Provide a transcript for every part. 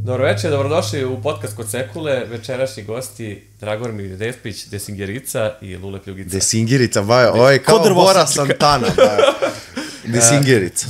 Dobro večer, dobrodošli u podcast Kod Sekule. Večerašnji gosti Dragomir Despić, Desingerica i Lule Pljugica. Desingerica, bajo, ovo je kao Bora Santana, bajo. Desingerica.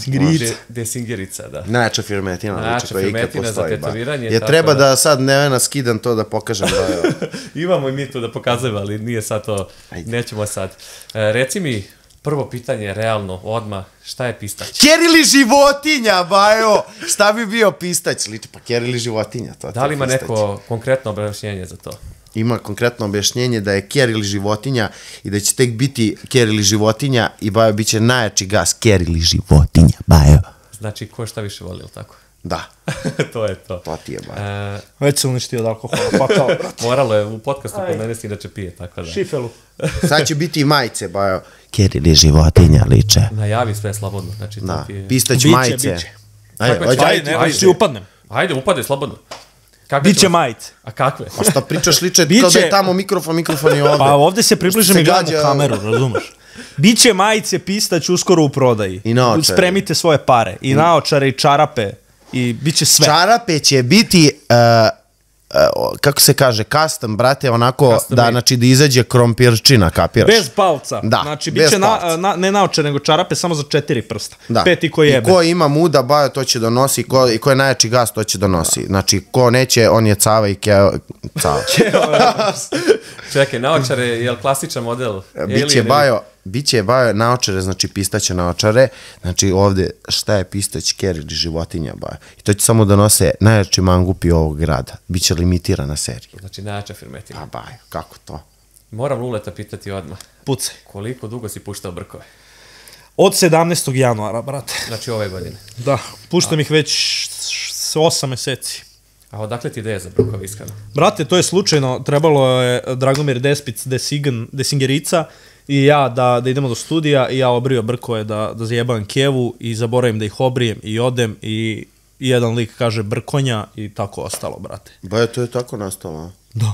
Desingerica, da. Najjača firmetina, Najjača firmetina za tetoviranje. Ja treba da sad Nevena skidam to da pokažem, bajo. Imamo i mi tu da pokazujemo, ali nije sad to, nećemo sad. Reci mi, prvo pitanje, realno, odmah, šta je pistać? Ker ili životinja, bajo! Šta bi bio pistać? Liči, pa ker ili životinja, to Da li ima neko konkretno objašnjenje za to? Ima konkretno objašnjenje da je ker ili životinja i da će tek biti ker ili životinja i bajo bit će najjači gas ker ili životinja, bajo. Znači, ko šta više voli, ili tako? Da. To je to. To ti je, bajo. Već se uništio od alkohola, pa kao, brate. Moralo je u podcastu kod mene si inače pije, tako da. Šifelu. Sad će biti i majice, bajo. Ker ili životinja liče. Najavi sve slobodno, znači to Da, ti je... pistać majice. Ajde, ti upadnem. Ajde, upade, slobodno. Biće majice. A kakve? A šta pričaš liče kao da je tamo mikrofon je ovde. Pa ovde se približim i gledam u kameru, razumeš? Biće majice pistać uskoro u prodaji. I naočare. Spremite svoje pare. I naočare, i čarape. I bit će sve. Čarape će biti, kako se kaže, custom, brate, onako, da, znači, da izađe krompirčina, kapiraš? Bez palca. Da, znači, bez biće palca. ne naočare, nego čarape samo za 4 prsta. Da. 5 i ko jebe. I ko ima muda, bajo, to će donosi, i ko je najjači gas, to će donosi. Znači, ko neće, on je cava i cava. Čekaj, naočare, je li klasičan model? Biće bajo naočare, znači pistaće naočare, znači ovde šta je pistać, ker ili životinja, bajo. I to će samo donose najjači mangupi ovog grada. Biće limitirana serija. Znači, najjača firmetina. A bajo, kako to? Moram Luleta pitati odmah. Pucaj. Koliko dugo si puštao brkove? Od 17. januara, brate. Znači, ove godine. Da, puštam ih već 8 meseci. A odakle ti ideja za brkove, iskreno? Brate, to je slučajno, trebalo je Dragomir Despić, Desingerica i ja da idemo do studija i ja obrio brkove da zajebam kevu i zaboravim da ih obrijem i odem i jedan lik kaže brkonja i tako ostalo, brate. Bajo, to je tako nastalo, a? Da.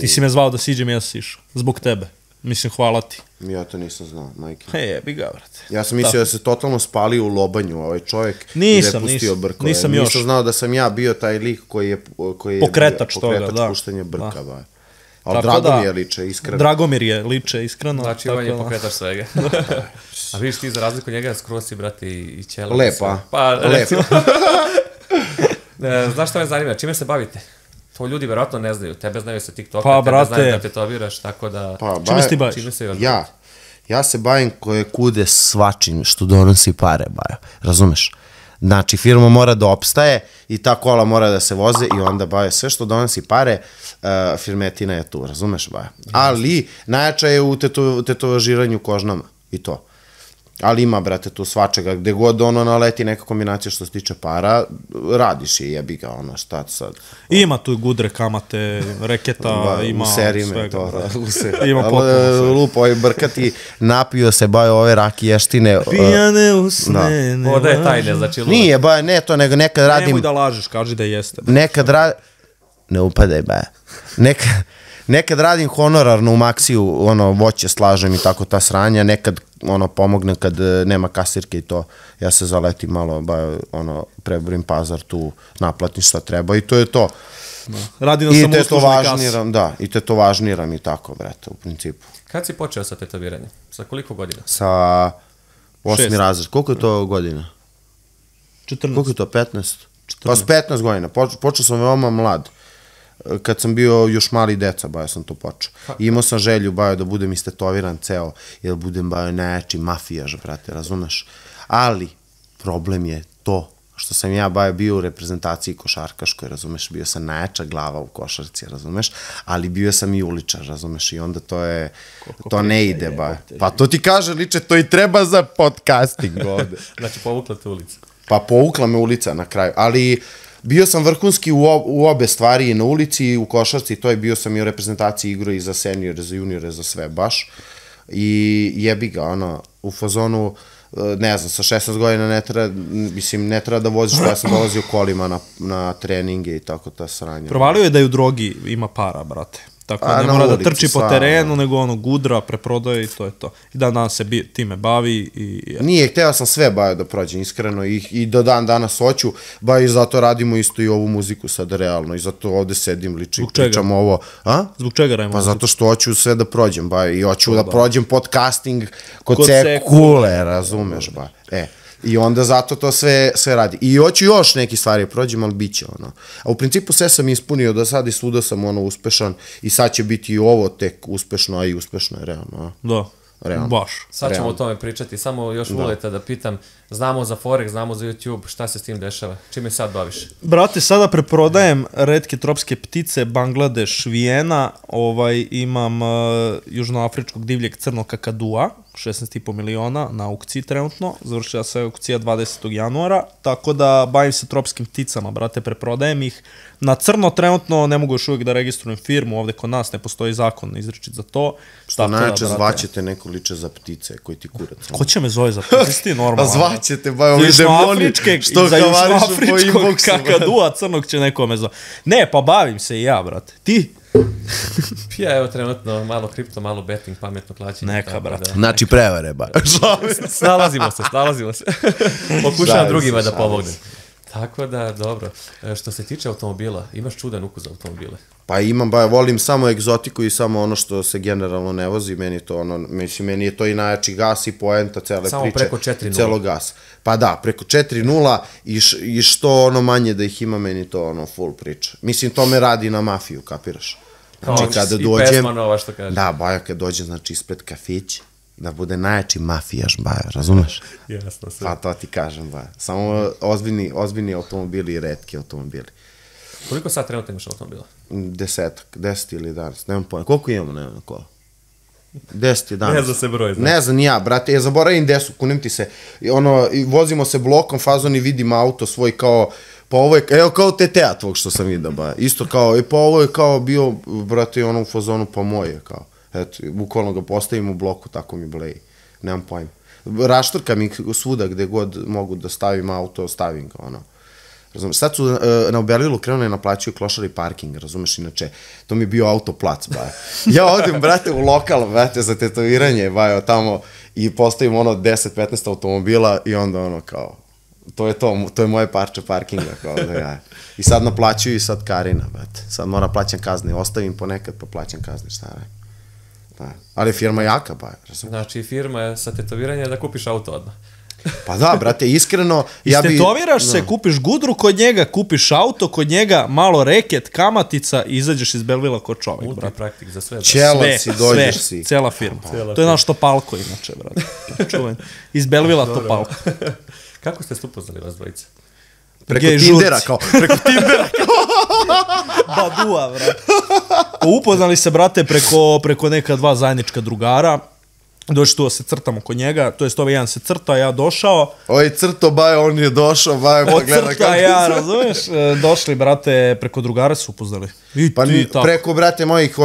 Ti si me zvao da siđem i ja sam išao. Zbog tebe. Mislim, hvala ti. Ja to nisam znao, majke. Jebi ga, brate. Ja sam mislio da se totalno spalio u lobanju ovaj čovjek. Nisam još. Nisam znao da sam ja bio taj lik koji je Pokretač toga, da. puštanja brka, bajo. Ali Dragomir je liče, iskreno. Dragomir je liče, iskreno. Znači, on je pokretač svega. A vidiš ti, za razliku njega, skroz si, brate, i ćela. Lepa. Pa, recimo. Znaš šta me zanima, čime se bavite? To ljudi verovatno ne znaju. Tebe znaju sa TikToka, tebe znaju da tetoviraš, tako da... Čime se ti baviš? Ja se bavim koje kude svačim što donosi pare, bajo. Razumeš? Znači, firma mora da opstaje i ta kola mora da se voze i onda, bajo, sve što donosi pare, firmetina je tu, razumeš, bajo? Ali, najjača je u tetovažiranju kožnama i to. Ali ima, brate, tu svačega, gde god ono naleti neka kombinacija što se tiče para, radiš je, jebi ga, ono, šta sad. Ima tu gudre, kamate, reketa, ima svega. Ima potpuno. Lupo, ovaj brkati, napio se, bajo, ove rakještine. Pijane usne. Ovo da je tajne, znači Lule. Nije, bajo, ne to, nego nekad radim... Nemoj da lažeš, kaži da jeste. Nekad radim... Ne upadaj, bajo. Nekad radim honorarno u Maksiju, ono, voće slažem i tako ta sranja, nekad, ono, pomognem kad nema kasirke i to, ja se zaletim malo, ono, preburim pazar tu, naplatim šta treba i to je to. Radi na samouslužnoj kasi. Da, i tetovažniram i tako, brate, u principu. Kad si počeo sa tetoviranjem? Sa koliko godina? Sa 8. razred. Koliko je to godina? 14. Koliko je to, 15? Pa s 15 godina, počeo sam veoma mlad. Kad sam bio još mali deca, bajo sam to počeo. I imao sam želju, bajo, da budem istetoviran ceo, jer budem, bajo, najjači mafijaž, brate, razumeš? Ali, problem je to što sam ja, bajo, bio u reprezentaciji košarkaškoj, razumeš? Bio sam najjača glava u košarci, razumeš? Ali bio sam i uličar, razumeš? I onda to ne ide, bajo. Pa to ti kaže, liče, to i treba za podcasting ovde. Znači, povukla te ulica. Pa povukla me ulica na kraju, ali... Bio sam vrhunski u obe stvari, i na ulici i u košarci, to je bio sam i u reprezentaciji igro i za seniore, za juniore, za sve baš. I jebi ga, ono, u fazonu, ne znam, sa 16 godina ne treba da voziš, ja sam dolazio kolima na treninge i tako ta sranja. Provalio je da je u drogi ima para, brate. Tako da ne mora da trči po terenu, nego ono gudra, preprodaje i to je to. I dan danas se time bavi i... Nije, hteo sam sve bajo da prođem, iskreno, i do dan danas hoću, i zato radimo isto i ovu muziku sad realno, i zato ovde sedim, pričam ovo. Zbog čega radimo? Pa zato što hoću sve da prođem, i hoću da prođem podcasting kod Kule, razumeš, I onda zato to sve radi. I hoću još neke stvari prođem, ali bit će ono. A u principu sve sam ispunio do sad i svuda sam uspešan i sad će biti i ovo tek uspešno, a i uspešno je realno. Da, baš. Sad ćemo o tome pričati, samo još Vuleta da pitam, znamo za Forex, znamo za YouTube, šta se s tim dešava? Čime sad baviš? Brate, sada preprodajem retke tropske ptice, Bangladeš, Vijena, imam južnoafričkog divljeg crnog kakadua, 16,5 miliona na aukciji trenutno, završila se aukcija 20. januara, tako da bavim se tropskim pticama, brate, preprodajem ih. Na crno trenutno ne mogu još uvijek da registrujem firmu, ovde kod nas ne postoji zakon izričit za to. Što najče zvaćete neko liče za ptice koji ti kurac. Ko će me zove za ptice, ti normalno? A zvaćete, ovi demoni što havarišu po inboxu. Kakadua crnog će neko me zove. Ne, pa bavim se i ja, brate. Ti? Ja, evo trenutno malo kripto, malo betting, pametno klađenje. Neka, brate. Znači prevare, Snalazimo se. Pokušavam drugima da pomognem. Tako da, dobro. Što se tiče automobila, imaš čudan ukus za automobile? Pa imam, volim samo egzotiku i samo ono što se generalno ne vozi, meni je to ono, meni je to i najjači gas i poenta cele priče. Samo preko 4.0. Celo gas. Pa da, preko 4.0 i što ono manje da ih ima, meni to ono full priča. Mislim, to me radi na mafiju, kapiraš? Znači, kada dođem... I pesma nova, što kažem. Da, Bajo, kad dođem, znači, ispred kafić, da bude najjači mafijaš, Bajo, razumeš? Jasno sve. Pa to ti kažem, Bajo. Samo ozbiljni automobili i retki automobili. Koliko sad trenutno imaš automobila? 10 ili 11, nemam pojma. Koliko imamo, na kola? 10, 11. Ne zna se broj, Ne znam ni ja, brate, ja zaboravim gde su, kunim ti se. Vozimo se blokom, fazon i vidim auto svoj kao, pa ovo je, evo kao TTA tvog što sam vidio, ba. Isto kao, pa ovo je kao bio, brate, ono u fazonu, pa moje, kao. Eto, bukvalno ga postavim u bloku, tako mi bleji. Nemam pojma. Raštrkam ih svuda gde god mogu da stavim auto, stavim ga, ono. Razumeš, sad su na Berlilu krenuli naplaćuju klošari parking, razumeš, inače, to mi je bio autoplac, bajo. Ja odim, brate, u lokal, brate, za tetoviranje, bajo, tamo, i postavim ono 10-15 automobila i onda ono kao, to je moje parče parkinga, kao da ja. I sad naplaćuju i sad Karina, brate, sad moram plaćam kazne, ostavim ponekad pa plaćam kazne, šta ne. Ali firma jaka, bajo, razumeš. Znači, firma je sa tetoviranja da kupiš auto odmah. Pa da, brate, iskreno... Istetoviraš se, kupiš gudru kod njega, kupiš auto kod njega, malo reket, kamatica i izađeš iz Belvila kod čovek, brate. Multipraktik za sve. Čelac si, dođeš si. Cela firma. To je naš Topalko, inače, brate. Čuvaj. Iz Belvila Topalko. Kako ste se upoznali vas dvojice? Preko Tindera, kao. Badua, brate. Upoznali se, brate, preko neka dva zajednička drugara. Došli tu da se crtamo kod njega, to jest ovaj jedan se crta, ja došao. Ovaj crto, bajo, on je došao, bajo, pa gleda kako... Od crta, ja, razumiješ, došli, brate, preko drugara se upoznali. Pa preko, brate, mojih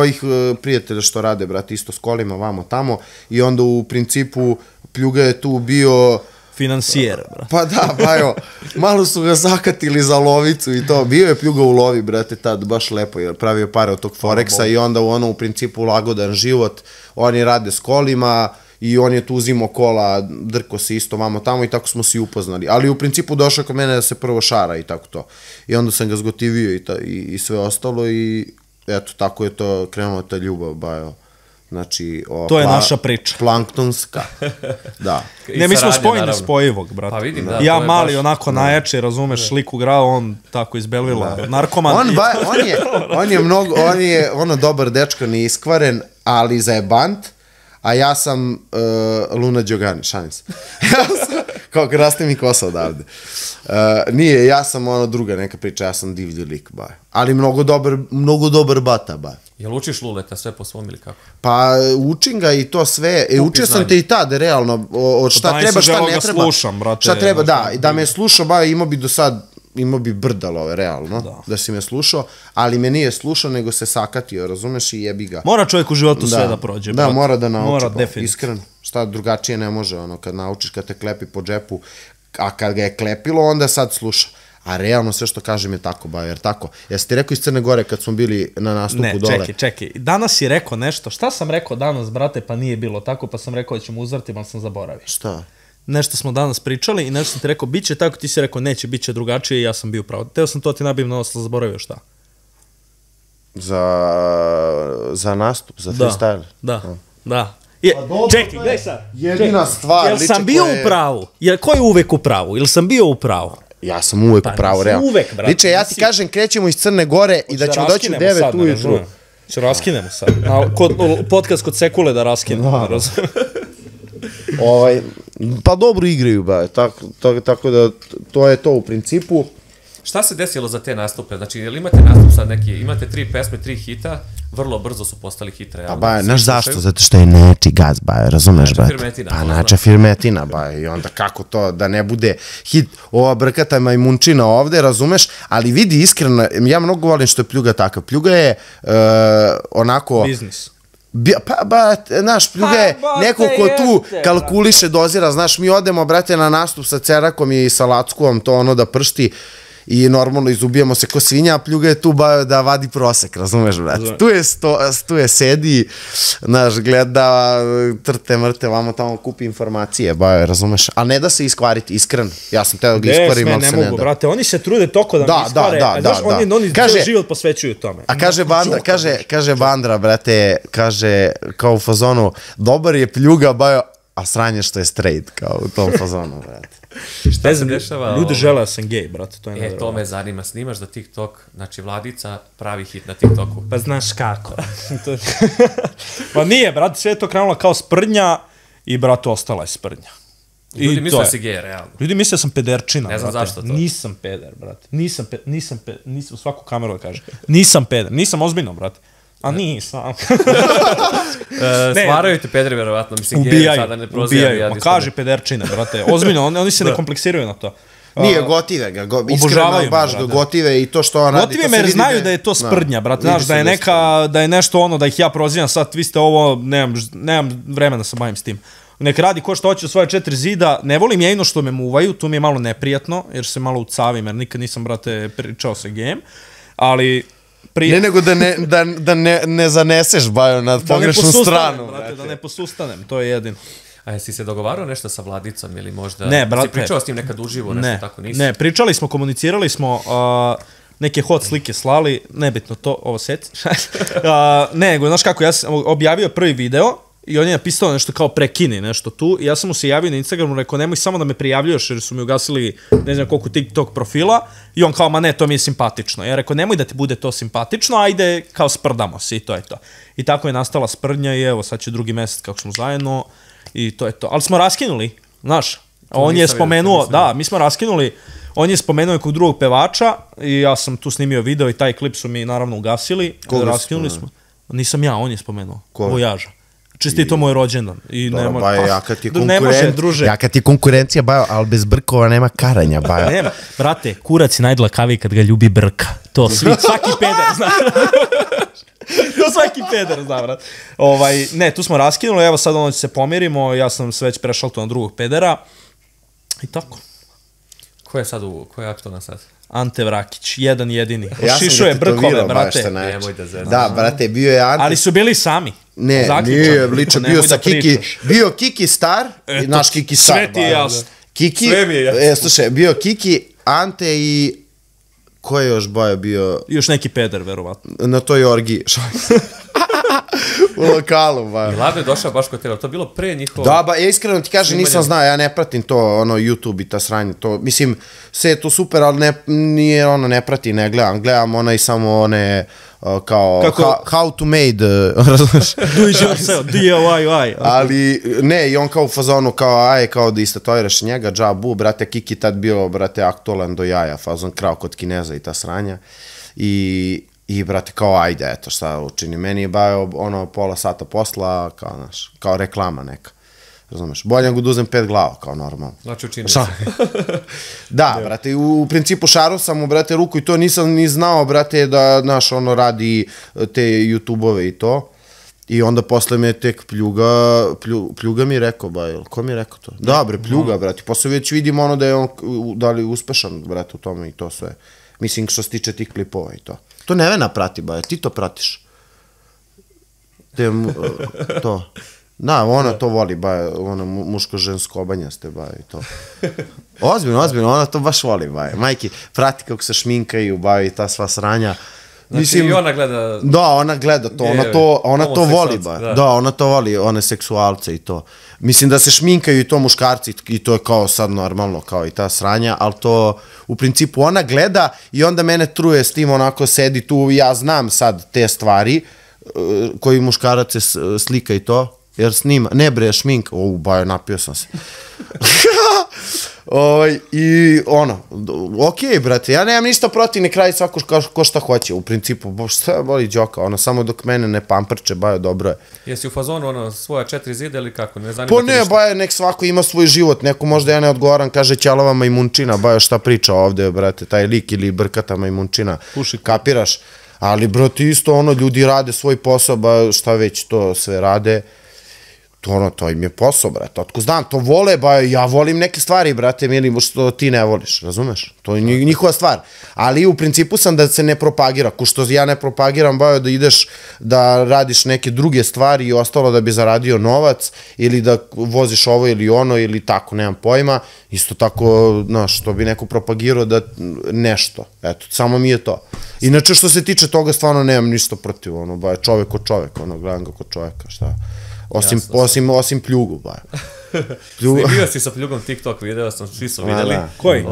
prijatelja što rade, brate, isto s kolima, vamo, tamo, i onda u principu Pljuga je tu bio... Financijer, brate. Pa da, bajo, malo su ga zakatili za lovicu i to, bio je Pljuga u lovi, brate, tad, baš lepo, jer pravio pare od tog Forexa i onda u principu lagodan život, oni rade s kolima i on je tu uzimao kola, drko se isto vamo tamo i tako smo se i upoznali. Ali u principu došao kod mene da se prvo šara i tako to. I onda sam ga zgotivio i sve ostalo i eto, tako je to krenulo ta ljubav, bajo. Znači, to je naša priča. Planktonska. Da. Ne, mi smo spojeni spojivog, brate. Pa vidim, da. Ja mali, onako najjače, razumeš, liku grao, on tako iz Belvila, narkoman. On je ono dobar dečko, neiskvaren, ali zajebant, a ja sam Luna Đogani, šalim se. Kao raste mi kosa odavde. Nije, ja sam ono druga neka priča, ja sam divlji lik, ba. Ali mnogo dobar bata, ba. Jel učiš Luleta sve po svom ili kako? Pa učim ga i to sve. Učio sam te i tad, realno, od šta treba, šta ne treba. Šta treba, da, da me slušao, ba, imao bi brdalo, realno, da si me slušao, ali me nije slušao, nego se sakatio, razumeš, i jebi ga. Mora čovjek u životu sve da prođe. Da, mora da nauči, iskreno. Šta drugačije ne može, ono, kad naučiš, kad te klepi po džepu, a kad ga je klepilo, onda sad sluša. a realno sve što kažem je tako, ba, jer tako. Jesi ti rekao iz Crne Gore kad smo bili na nastupu dole? Ne, čekaj, danas si rekao nešto, šta sam rekao danas, brate, pa nije bilo tako, pa sam rekao da ćemo uzvrti, ali sam zaboravio. Šta? Nešto smo danas pričali i nešto sam ti rekao, bit će tako, ti si rekao, neće, bit će drugačije i ja sam bio pravo. Teo sam to ti nabim na osla, zaboravio šta. Za nastup, za freestyle? Da. Čekaj, gledaj sad. Jedina stvar, jel sam bio u pravu? Ko je uvek u pravu? Jel sam bio u pravu? Ja sam uvek u pravu, realno. Uvek, brate. Liče, ja ti kažem, krećemo iz Crne Gore i da ćemo doći u 9 ujutru. Če raskinemo sad. Podcast kod Sekule da raskinemo. Pa dobro igraju, ba. Tako da to je to u principu. Šta se desilo za te nastupe? Znači, jel imate nastup sad neki, imate 3 pesme, 3 hita, vrlo brzo su postali hit, realno. Pa ba, znaš zašto? Zato što je neči gaz, ba, razumeš, ba? Pa nača firmetina, ba, i onda kako to, da ne bude hit, ova brkata majmunčina ovde, razumeš? Ali vidi, iskreno, ja mnogo volim što je Pljuga takav. Pljuga je onako... Biznis. Pa, znaš, Pljuga je neko ko tu kalkuliše, dozira, znaš, mi odemo, brate, na nastup sa Cerakom i sa Lackovom, to ono da pršti, i normalno izubijamo se ko svinja, a Pljuga je tu da vadi prosek, razumeš, brate? Tu je sedi, znaš, gleda, trte, mrte, vamo tamo kupi informacije, razumeš? A ne da se iskvariti, iskreno. Ja sam teo da ga iskvarim, ali se ne da. Ne mogu, brate, oni se trude toko da mi iskvare, oni cijel život posvećuju tome. A kaže Bandra, brate, kaže, kao u fazonu, dobar je Pljuga, a sranje što je straight, kao u tom fazonu, brate. Šta se dešava? Ljudi žele da sam gej, brate, to je nevjerovatno. To me zanima, snimaš za TikTok, znači Vladica pravi hit na TikToku. Pa znaš kako. Pa nije, brate, sve je to krenulo kao sprdnja i, brate, ostala je sprdnja. Ljudi misle da si gej, realno. Ljudi misle da sam pederčina, brate. Ne znam zašto to. Nisam peder, brate. Nisam, u svaku kameru da kaže. Nisam peder, nisam ozbiljno, brate. A nisam. Stvaraju te pederi, verovatno. Mislim, gej sada ne prozivam. Ubijaju, ma kaži pederčine, brate. Ozbiljno, oni se ne kompleksiraju na to. Nije, gotive ga, iskreno baš ga gotive i to što on radi. Gotive me jer znaju da je to sprdnja, brate, znaš, da je nešto ono, da ih ja prozivam, sad vi ste ovo, nemam vremena da se bavim s tim. Nek radi ko što hoće u svoje 4 zida, ne volim jedino što me muvaju, tu mi je malo neprijatno, jer se malo ucavim, jer nikad nisam, brate, pričao sa gejem, ali... Ne nego da ne zaneseš, Bajo, na pogrešnu stranu. Brate, da ne posustanem, to je jedino. A jesi se dogovarao nešto sa Vladicom ili možda... Ne, brate. Si pričao s njim nekad uživo, nešto tako nisi? Ne, pričali smo, komunicirali smo, neke hot slike slali, nebitno to, ovo seci. Ne, nego, znaš kako, ja sam objavio prvi video i on je napisao nešto kao prekini, nešto tu, i ja sam mu se javio na Instagramu, rekao, nemoj samo da me prijavljaš, jer su mi ugasili ne znam koliko TikTok profila, i on kao, ma ne, to mi je simpatično. Ja rekao, nemoj da ti bude to simpatično, ajde, kao sprdamo se, i to je to. I tako je nastala sprdnja i evo, sad će 2. mesec kako smo zajedno, i to je to. Ali smo raskinuli, znaš, on je spomenuo, da, mi smo raskinuli, on je spomenuo nekog drugog pevača i ja sam tu snimio video i taj klip su mi naravno ugasili. Koga raskinuli smo. Nisam ja, on je spomenuo. Vojaža. Čistito moj rođendan. Dobro, Bajo, jaka ti konkurencija, Bajo, ali bez brkova nema karanja, Bajo. Nema, brate, kurac je najdlakaviji kad ga ljubi brka. To svaki peder zna. To svaki peder zna, brate. Ne, tu smo raskinuli, evo sad ono se pomirimo, ja sam se već prešao to na drugog pedera. I tako. Ko je aktualna sad? Ante Vrakić, jedan jedini. Šišuje brkove, brate. Nemoj da zezam. Da, brate, bio je Ante. Ali su bili sami. Ne, nije, liče, bio sa Kiki. Bio Kiki Star, naš Kiki Star. Sve ti je jasno. Kiki, slušaj, bio Kiki, Ante i... Ko je još Bajo bio? Još neki peder, verovatno. Na toj orgiji. U lokalu, Bajo. Vlado je došao baš kod tebe, to je bilo pre njihovo... Da, ba, iskreno ti kažem, nisam znao, ja ne pratim to, YouTube i ta sranje, to, mislim, sve je to super, ali nije, ne pratim, ne gledam, gledam i samo one, kao, how to made, razumiješ? Do it yourself, DIY. Ali, ne, i on kao u fazonu, kao da istatoviraš njega, džabu, brate, Kiki tad bio, brate, aktualan do jaja, fazon krao kod Kineza i ta sranja, I, brate, kao, ajde, eto, šta učini. Meni je Bajo, pola sata posla, kao, znaš, kao reklama neka. Razumeš? Bolje nego da uzem 5 glava, kao normalno. Znači, učini se. Da, brate, u principu šarao sam mu, brate, ruku i to nisam ni znao, brate, da, znaš, radi te YouTube-ove i to. I onda posle me tek Pljuga mi je rekao, ko mi je rekao to? Da, bre, Pljuga, brate. Posle već vidim ono da je on, da li uspešan, brate, u tome i to sve. Mislim, što se tiče tih klipova i to. To Nevena prati, ti to pratiš. To. Da, ona to voli, ona muško-žensko obanjaste, i to. Ozbiljno, ona to baš voli, majki, prati kako se šminkaju, i ta sva sranja. Znači i ona gleda... Da, ona gleda to, ona to voli, da, ona to voli, one seksualce i to. Mislim da se šminkaju i to muškarci i to je kao sad normalno, kao i ta sranja, ali to u principu ona gleda i onda mene truje s tim, onako sedi tu, ja znam sad te stvari koji muškarac se slika i to, jer snima, ne bre, šminka, napio sam se. I okej, brate, ja nemam ništa protiv, ne kraji svako ko šta hoće, u principu, šta boli džoka, samo dok mene ne pamprče, dobro je. Jesi u fazonu, svoja 4 zida ili kako, ne zanima te ništa? Pa ne, nek svako ima svoj život, neko možda ja ne odgovaram, kaže ćalava majmunčina, šta priča ovde, brate, taj lik ili brkata majmunčina, kapiraš, ali, brate, isto, ljudi rade svoj posao, šta već to sve rade, to im je posao, brate, otko znam, to vole, ja volim neke stvari, brate, mili, što ti ne voliš, razumeš? To je njihova stvar, ali u principu sam da se ne propagira, ko što ja ne propagiram, da ideš da radiš neke druge stvari i ostalo da bi zaradio novac, ili da voziš ovo ili ono, ili tako, nemam pojma, isto tako, znaš, to bi neko propagirao da nešto, eto, samo mi je to. Inače, što se tiče toga, stvarno nemam ništa protiv, čovek od čoveka, gledam ga kod čoveka, šta... Osim Pljugu, Snimio si sa Pljugom TikTok video, svi su videli. Koji?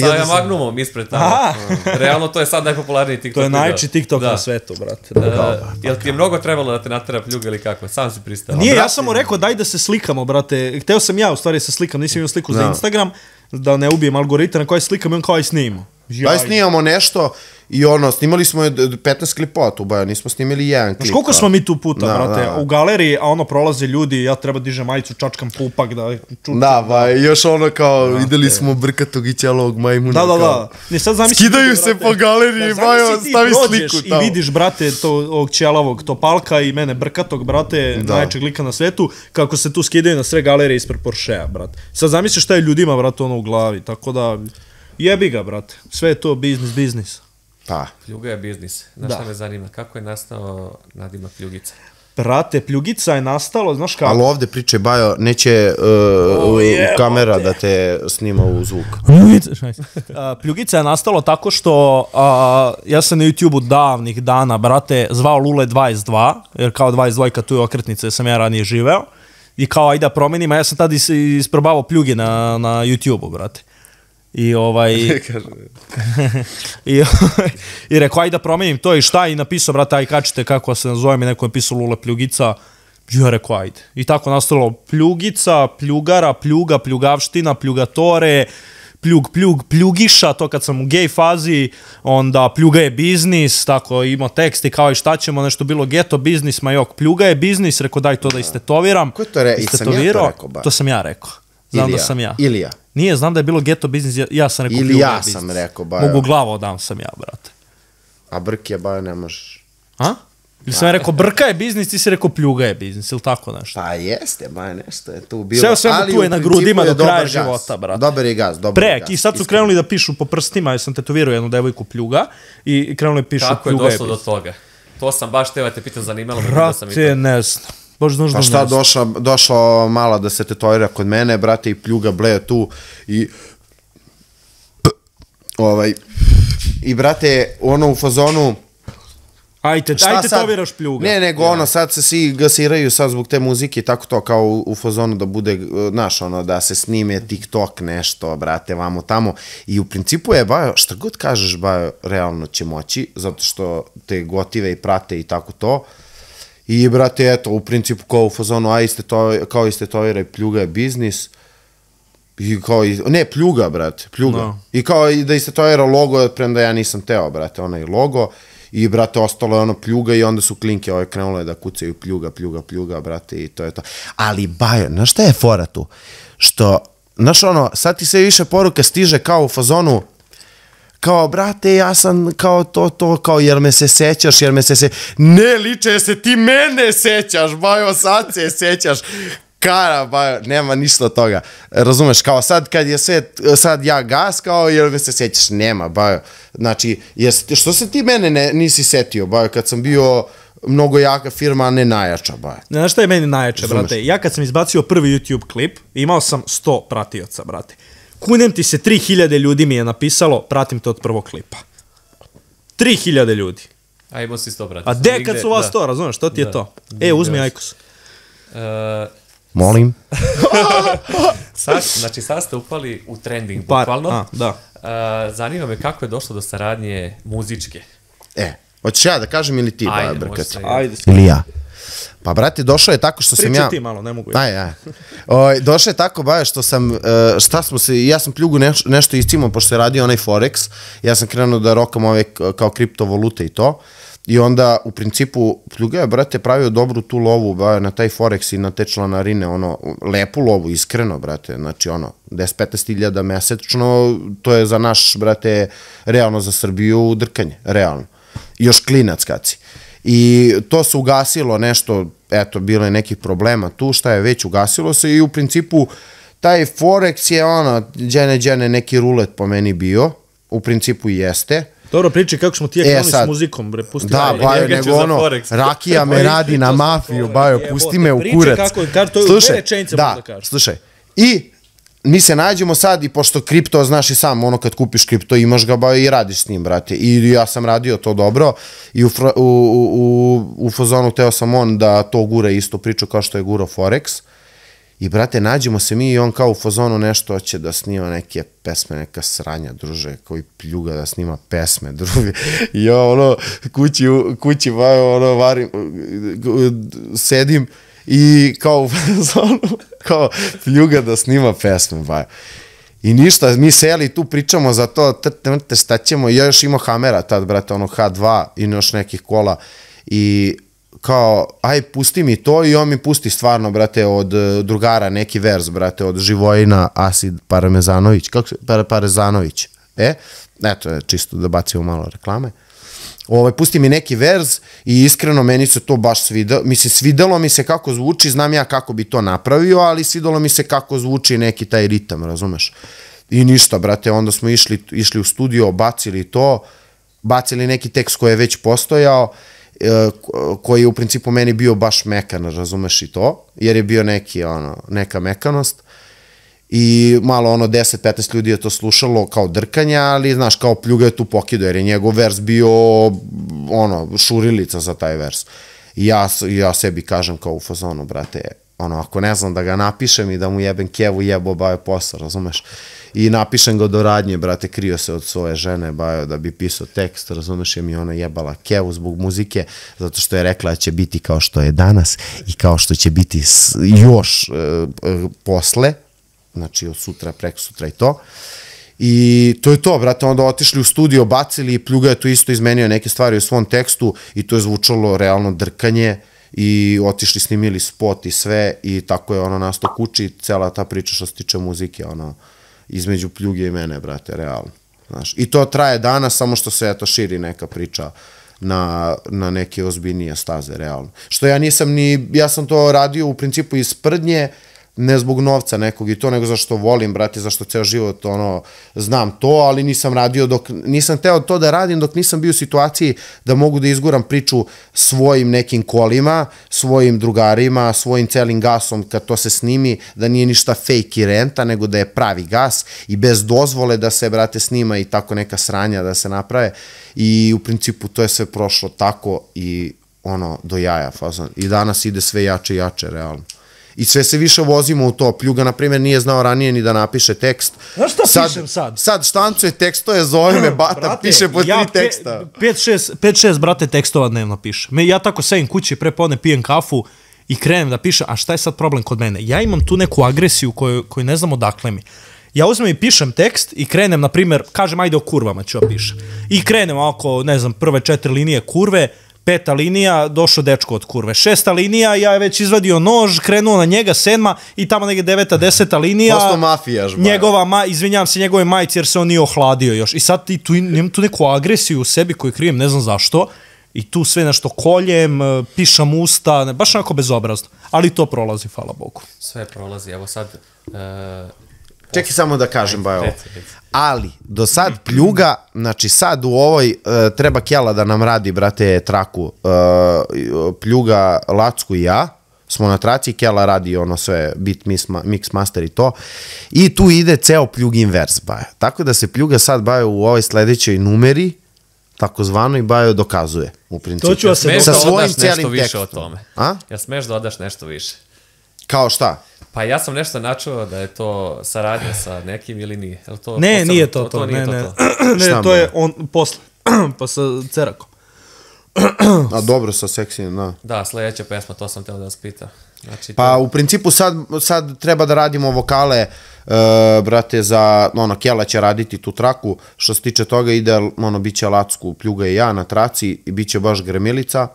Sa Magnumom ispred tamo. Realno to je sad najpopularniji TikTok video. To je najveći TikTok na svetu, brate. Jel ti je mnogo trebalo da te natera Pljuga ili kako? Sam si pristao. Nije, ja sam mu rekao daj da se slikamo, brate. Hteo sam ja u stvari se slikam, nisam imao sliku za Instagram, da ne ubijem algoritam na koji slikam i on kao i snimamo. Daj snimamo nešto i snimali smo 15 klipova tu, nismo snimili jedan klip. Znaš koliko smo mi tu puta, brate, u galeriji, a prolaze ljudi, ja treba dižem majicu, čačkam pupak, da čučam. Da, još kao, videli smo brkatog i ćelovog majmuna. Da. Skidaju se po galeriji, stavi sliku tamo. I vidiš, brate, ovog ćelovog topalka i mene brkatog, brate, najjačeg lika na svetu, kako se tu skidaju na sve galerije ispred Porschea, brate. Sad zamisli šta je ljudima, brate, u glavi, tako da... Jebi ga, brate. Sve je to biznis. Pa. Pljuga je biznis. Znaš šta me zanima? Kako je nastao nadimak Pljugica? Brate, Pljugica je nastalo, znaš kako? Ali ovde priče, Bajo, neće kamera da te snima u zvuk. Pljugica je nastalo tako što ja sam na YouTube-u davnih dana, brate, zvao Lule 22, jer kao 22 tu je okretnica, jer sam ja ranije živeo. I kao, ajde da promenim, a ja sam tada isprobavao Pljuge na YouTube-u, brate. I rekao, ajde da promenim to i šta, i napisao, brate, aj kačite kako se nazovem, i neko je pisao Lule Pljugica, ja rekao, ajde. I tako nastalo Pljugica, Pljugara, Pljuga, Pljugavština, Pljugatore, Pljugiša, to kad sam u gej fazi, onda Pljuga je biznis, tako imao tekst i kao i šta ćemo, nešto bilo geto biznis, ma jok, Pljuga je biznis, rekao daj to da istetoviram. Ko je to rekao? Sam ja to rekao, ba? To sam ja rekao. Znam da sam ja. Ilija. Nije, znam da je bilo geto biznis, ja sam rekao Pljuga je biznis. Ili ja sam rekao, Bajo. Mogu glavo odam sam ja, brate. A Brk je, Bajo, ne možeš. A? Ili sam ja rekao Brka je biznis, ti si rekao Pljuga je biznis, ili tako nešto? Pa jeste, Bajo, nešto je tu bilo. Sve tu je na grudima do kraja života, brate. Dobar je gaz, Prek, i sad su krenuli da pišu po prstima, jer sam tetovirao jednu devojku Pljuga, i krenuli da pišu Pljuga je biznis. Kako je došlo do toga? To sam baš teo te pitan, zanimalo me. Brate, ne znam. Pa šta, došla mala da se tetovira kod mene, brate, i Pljuga bleje tu i i brate, ono u fazonu ajte tetoviraš Pljuga. Ne, nego sad se svi gasiraju sad zbog te muzike i tako to, kao u fazonu da bude, znaš, da se snime TikTok nešto, brate, vamo tamo, i u principu je, Bajo, šta god kažeš, Bajo, realno će moći, zato što te gotive i prate i tako to. I, brate, eto, u principu kao u fazonu, kao istetoviraj, Pljuga je biznis. I kao, ne, Pljuga, brate, Pljuga. I kao da istetovira logo, premda ja nisam teo, brate, onaj logo. I, brate, ostalo je ono Pljuga i onda su klinke krenule da kucaju Pljuga, brate, i to je to. Ali, Bajo, znaš šta je fora tu? Što, znaš sad ti sve više poruka stiže kao u fazonu, kao, brate, ja sam kao to, kao, jer me se sećaš, ne, liče se, ti mene sećaš, bajo, sad se sećaš, kara, bajo, nema ništa od toga, razumeš, kao sad kad je sve, sad ja gas, kao, jer me se sećaš, nema, bajo, znači, što se ti mene nisi setio, bajo, kad sam bio mnogo jaka firma, a ne najjača, baje. Znaš šta je meni najjače, brate? Ja kad sam izbacio prvi YouTube klip, imao sam 100 pratioca, brate. Kunem ti se, 3000 ljudi mi je napisalo, pratim te od prvog klipa. 3000 ljudi. A imao si 100 pratioca. A de kad su vas to, razumiješ, što ti je to? Uzmi Ajkos. Molim. Znači, sad ste upali u trending, bukvalno. Da. Zanima me kako je došlo do saradnje muzičke. Hoćeš ja da kažem ili ti, Ajde, Brkat? Ajde. Ili ja. Pa, brate, došao je tako što sam ja... Pričaj ti malo, ne mogu. Došao je tako, baje, što sam... ja sam pljugu nešto iscimao, pošto se radio onaj Forex. Ja sam krenuo da rokam ove kao kriptovalute i to. I onda, u principu, pljuga je, brate, pravio dobru tu lovu, baje, na taj Forex i na te članarine, lepu lovu, iskreno, brate. Znači, 10-15 hiljada mesečno, to je za naš, brate, realno za Srbiju drkanje, realno. Još klinac kad si. I to se ugasilo nešto, eto, bilo je nekih problema tu, šta je već, ugasilo se i u principu taj Forex je džene neki rulet po meni bio, u principu i jeste. Dobro, priči kako smo ti krenuli s muzikom, bre, pusti. Da, bajo, nego rakija me radi na mafiju, bajo, pusti me u kurac. Slušaj, i mi se nađemo sad i pošto kripto, znaš i sam, kad kupiš kripto imaš ga ba i radiš s njim, brate. I ja sam radio to dobro i u fazonu teo sam da to gura isto priču kao što je gurao Forex. I, brate, nađemo se mi i on kao u fazonu nešto će da snima neke pesme, neka sranja, druže, koji pljuga da snima pesme, druže. I ja, kući, varim, sedim i kao u fazonu, kao pljuga da snima pesme, bajo. I ništa, mi seli tu pričamo za to, šta ćemo, ja još imao Hamera tad, brate, H2 i još nekih kola i kao, aj, pusti mi to i on mi pusti stvarno, brate, od drugara neki vers, brate, od Živojina Asid Parmezanović, Parezanović, eto, čisto da bacimo malo reklame. Pusti mi neki vers i iskreno meni se to baš svidelo, mislim, svidelo mi se kako zvuči, znam ja kako bi to napravio, ali svidelo mi se kako zvuči neki taj ritam, razumeš? I ništa, brate, onda smo išli u studio, bacili neki tekst koji je već postojao, koji je u principu meni bio baš mekan, razumeš i to, jer je bio neka mekanost i malo 10-15 ljudi je to slušalo kao drkanja, ali znaš, kao pljuga je tu pokido, jer je njegov vers bio šurilica za taj vers. I ja sebi kažem kao u fazonu, brate, ako ne znam da ga napišem i da mu jebem kevu, jebo bajo posao, razumeš? I napišem ga do radnje, brate, krio se od svoje žene, bajo, da bi pisao tekst, razumeš, je mi ona jebala kevu zbog muzike, zato što je rekla da će biti kao što je danas i kao što će biti još posle, znači od sutra, preko sutra i to. I to je to, brate, onda otišli u studio, bacili i pljuga je tu isto izmenio neke stvari u svom tekstu i to je zvučalo realno drkanje i otišli, snimili spot i sve i tako je nastao kući cela ta priča što se tiče muzike, između pljuge i mene, brate, realno. I to traje danas, samo što se širi neka priča na neke ozbiljnije staze, realno. Što ja sam to radio u principu iz sprdnje, ne zbog novca nekog i to, nego zašto volim, brate, zašto ceo život, znam to, ali nisam teo to da radim dok nisam bio u situaciji da mogu da izguram priču svojim nekim kolima, svojim drugarima, svojim celim gasom kad to se snimi, da nije ništa fake i renta, nego da je pravi gas i bez dozvole da se, brate, snima i tako neka sranja da se naprave i u principu to je sve prošlo tako i do jaja fazon. I danas ide sve jače i jače, realno. I sve se više vozimo u to. Pljuga, na primjer, nije znao ranije ni da napiše tekst. Znaš šta pišem sad? Sad štancuje tekstove, zove me, bata, piše po 3 teksta. 5-6, brate, tekstova dnevno piše. Ja tako sedim kući, prepodne pijem kafu i krenem da pišem, a šta je sad problem kod mene? Ja imam tu neku agresiju koju ne znam odakle mi. Ja uzmem i pišem tekst i krenem, na primjer, kažem, ajde o kurvama ću ja pišem. I krenem oko, ne znam, prve 4 linije kurve, 5. linija, došao dečko od kurve. 6. linija, ja je već izvadio nož, krenuo na njega, 7. i tamo neke 9. 10. linija. Posto mafijaš, izvinjam se njegove majici jer se on nije ohladio još. I sad ti imam tu neku agresiju u sebi koju krijem, ne znam zašto. I tu sve nešto koljem, pišam usta, baš onako bezobrazno. Ali to prolazi, hvala Bogu. Sve prolazi, evo sad... Čekaj samo da kažem, Bajo. Ali, do sad pljuga, znači sad u ovoj treba Kjela da nam radi, brate, traku. Pljuga, Lacku i ja smo na traci, Kjela radi ono sve, beat, mix, master i to. I tu ide ceo pljugin vers, Bajo. Tako da se pljuga sad, Bajo, u ovoj sledećoj numeri, takozvano, i Bajo dokazuje, u principu. To ću vas se sa svojim cijelim tekstom. O tome. Ja smeš da odaš nešto više. Kao šta? Pa ja sam nešto načuo da je to saradnja sa nekim ili nije. Ne, nije to. Ne, to je on posle. Pa sa Cerakom. A dobro, sa seksijem, da. Da, sledeća pesma, to sam teo da vas pita. Znači, pa u principu sad treba da radimo vokale, brate, za, Kjela će raditi tu traku, što se tiče toga ide, bit će Lacku, Pljuga i ja na traci i bit će baš gremilica.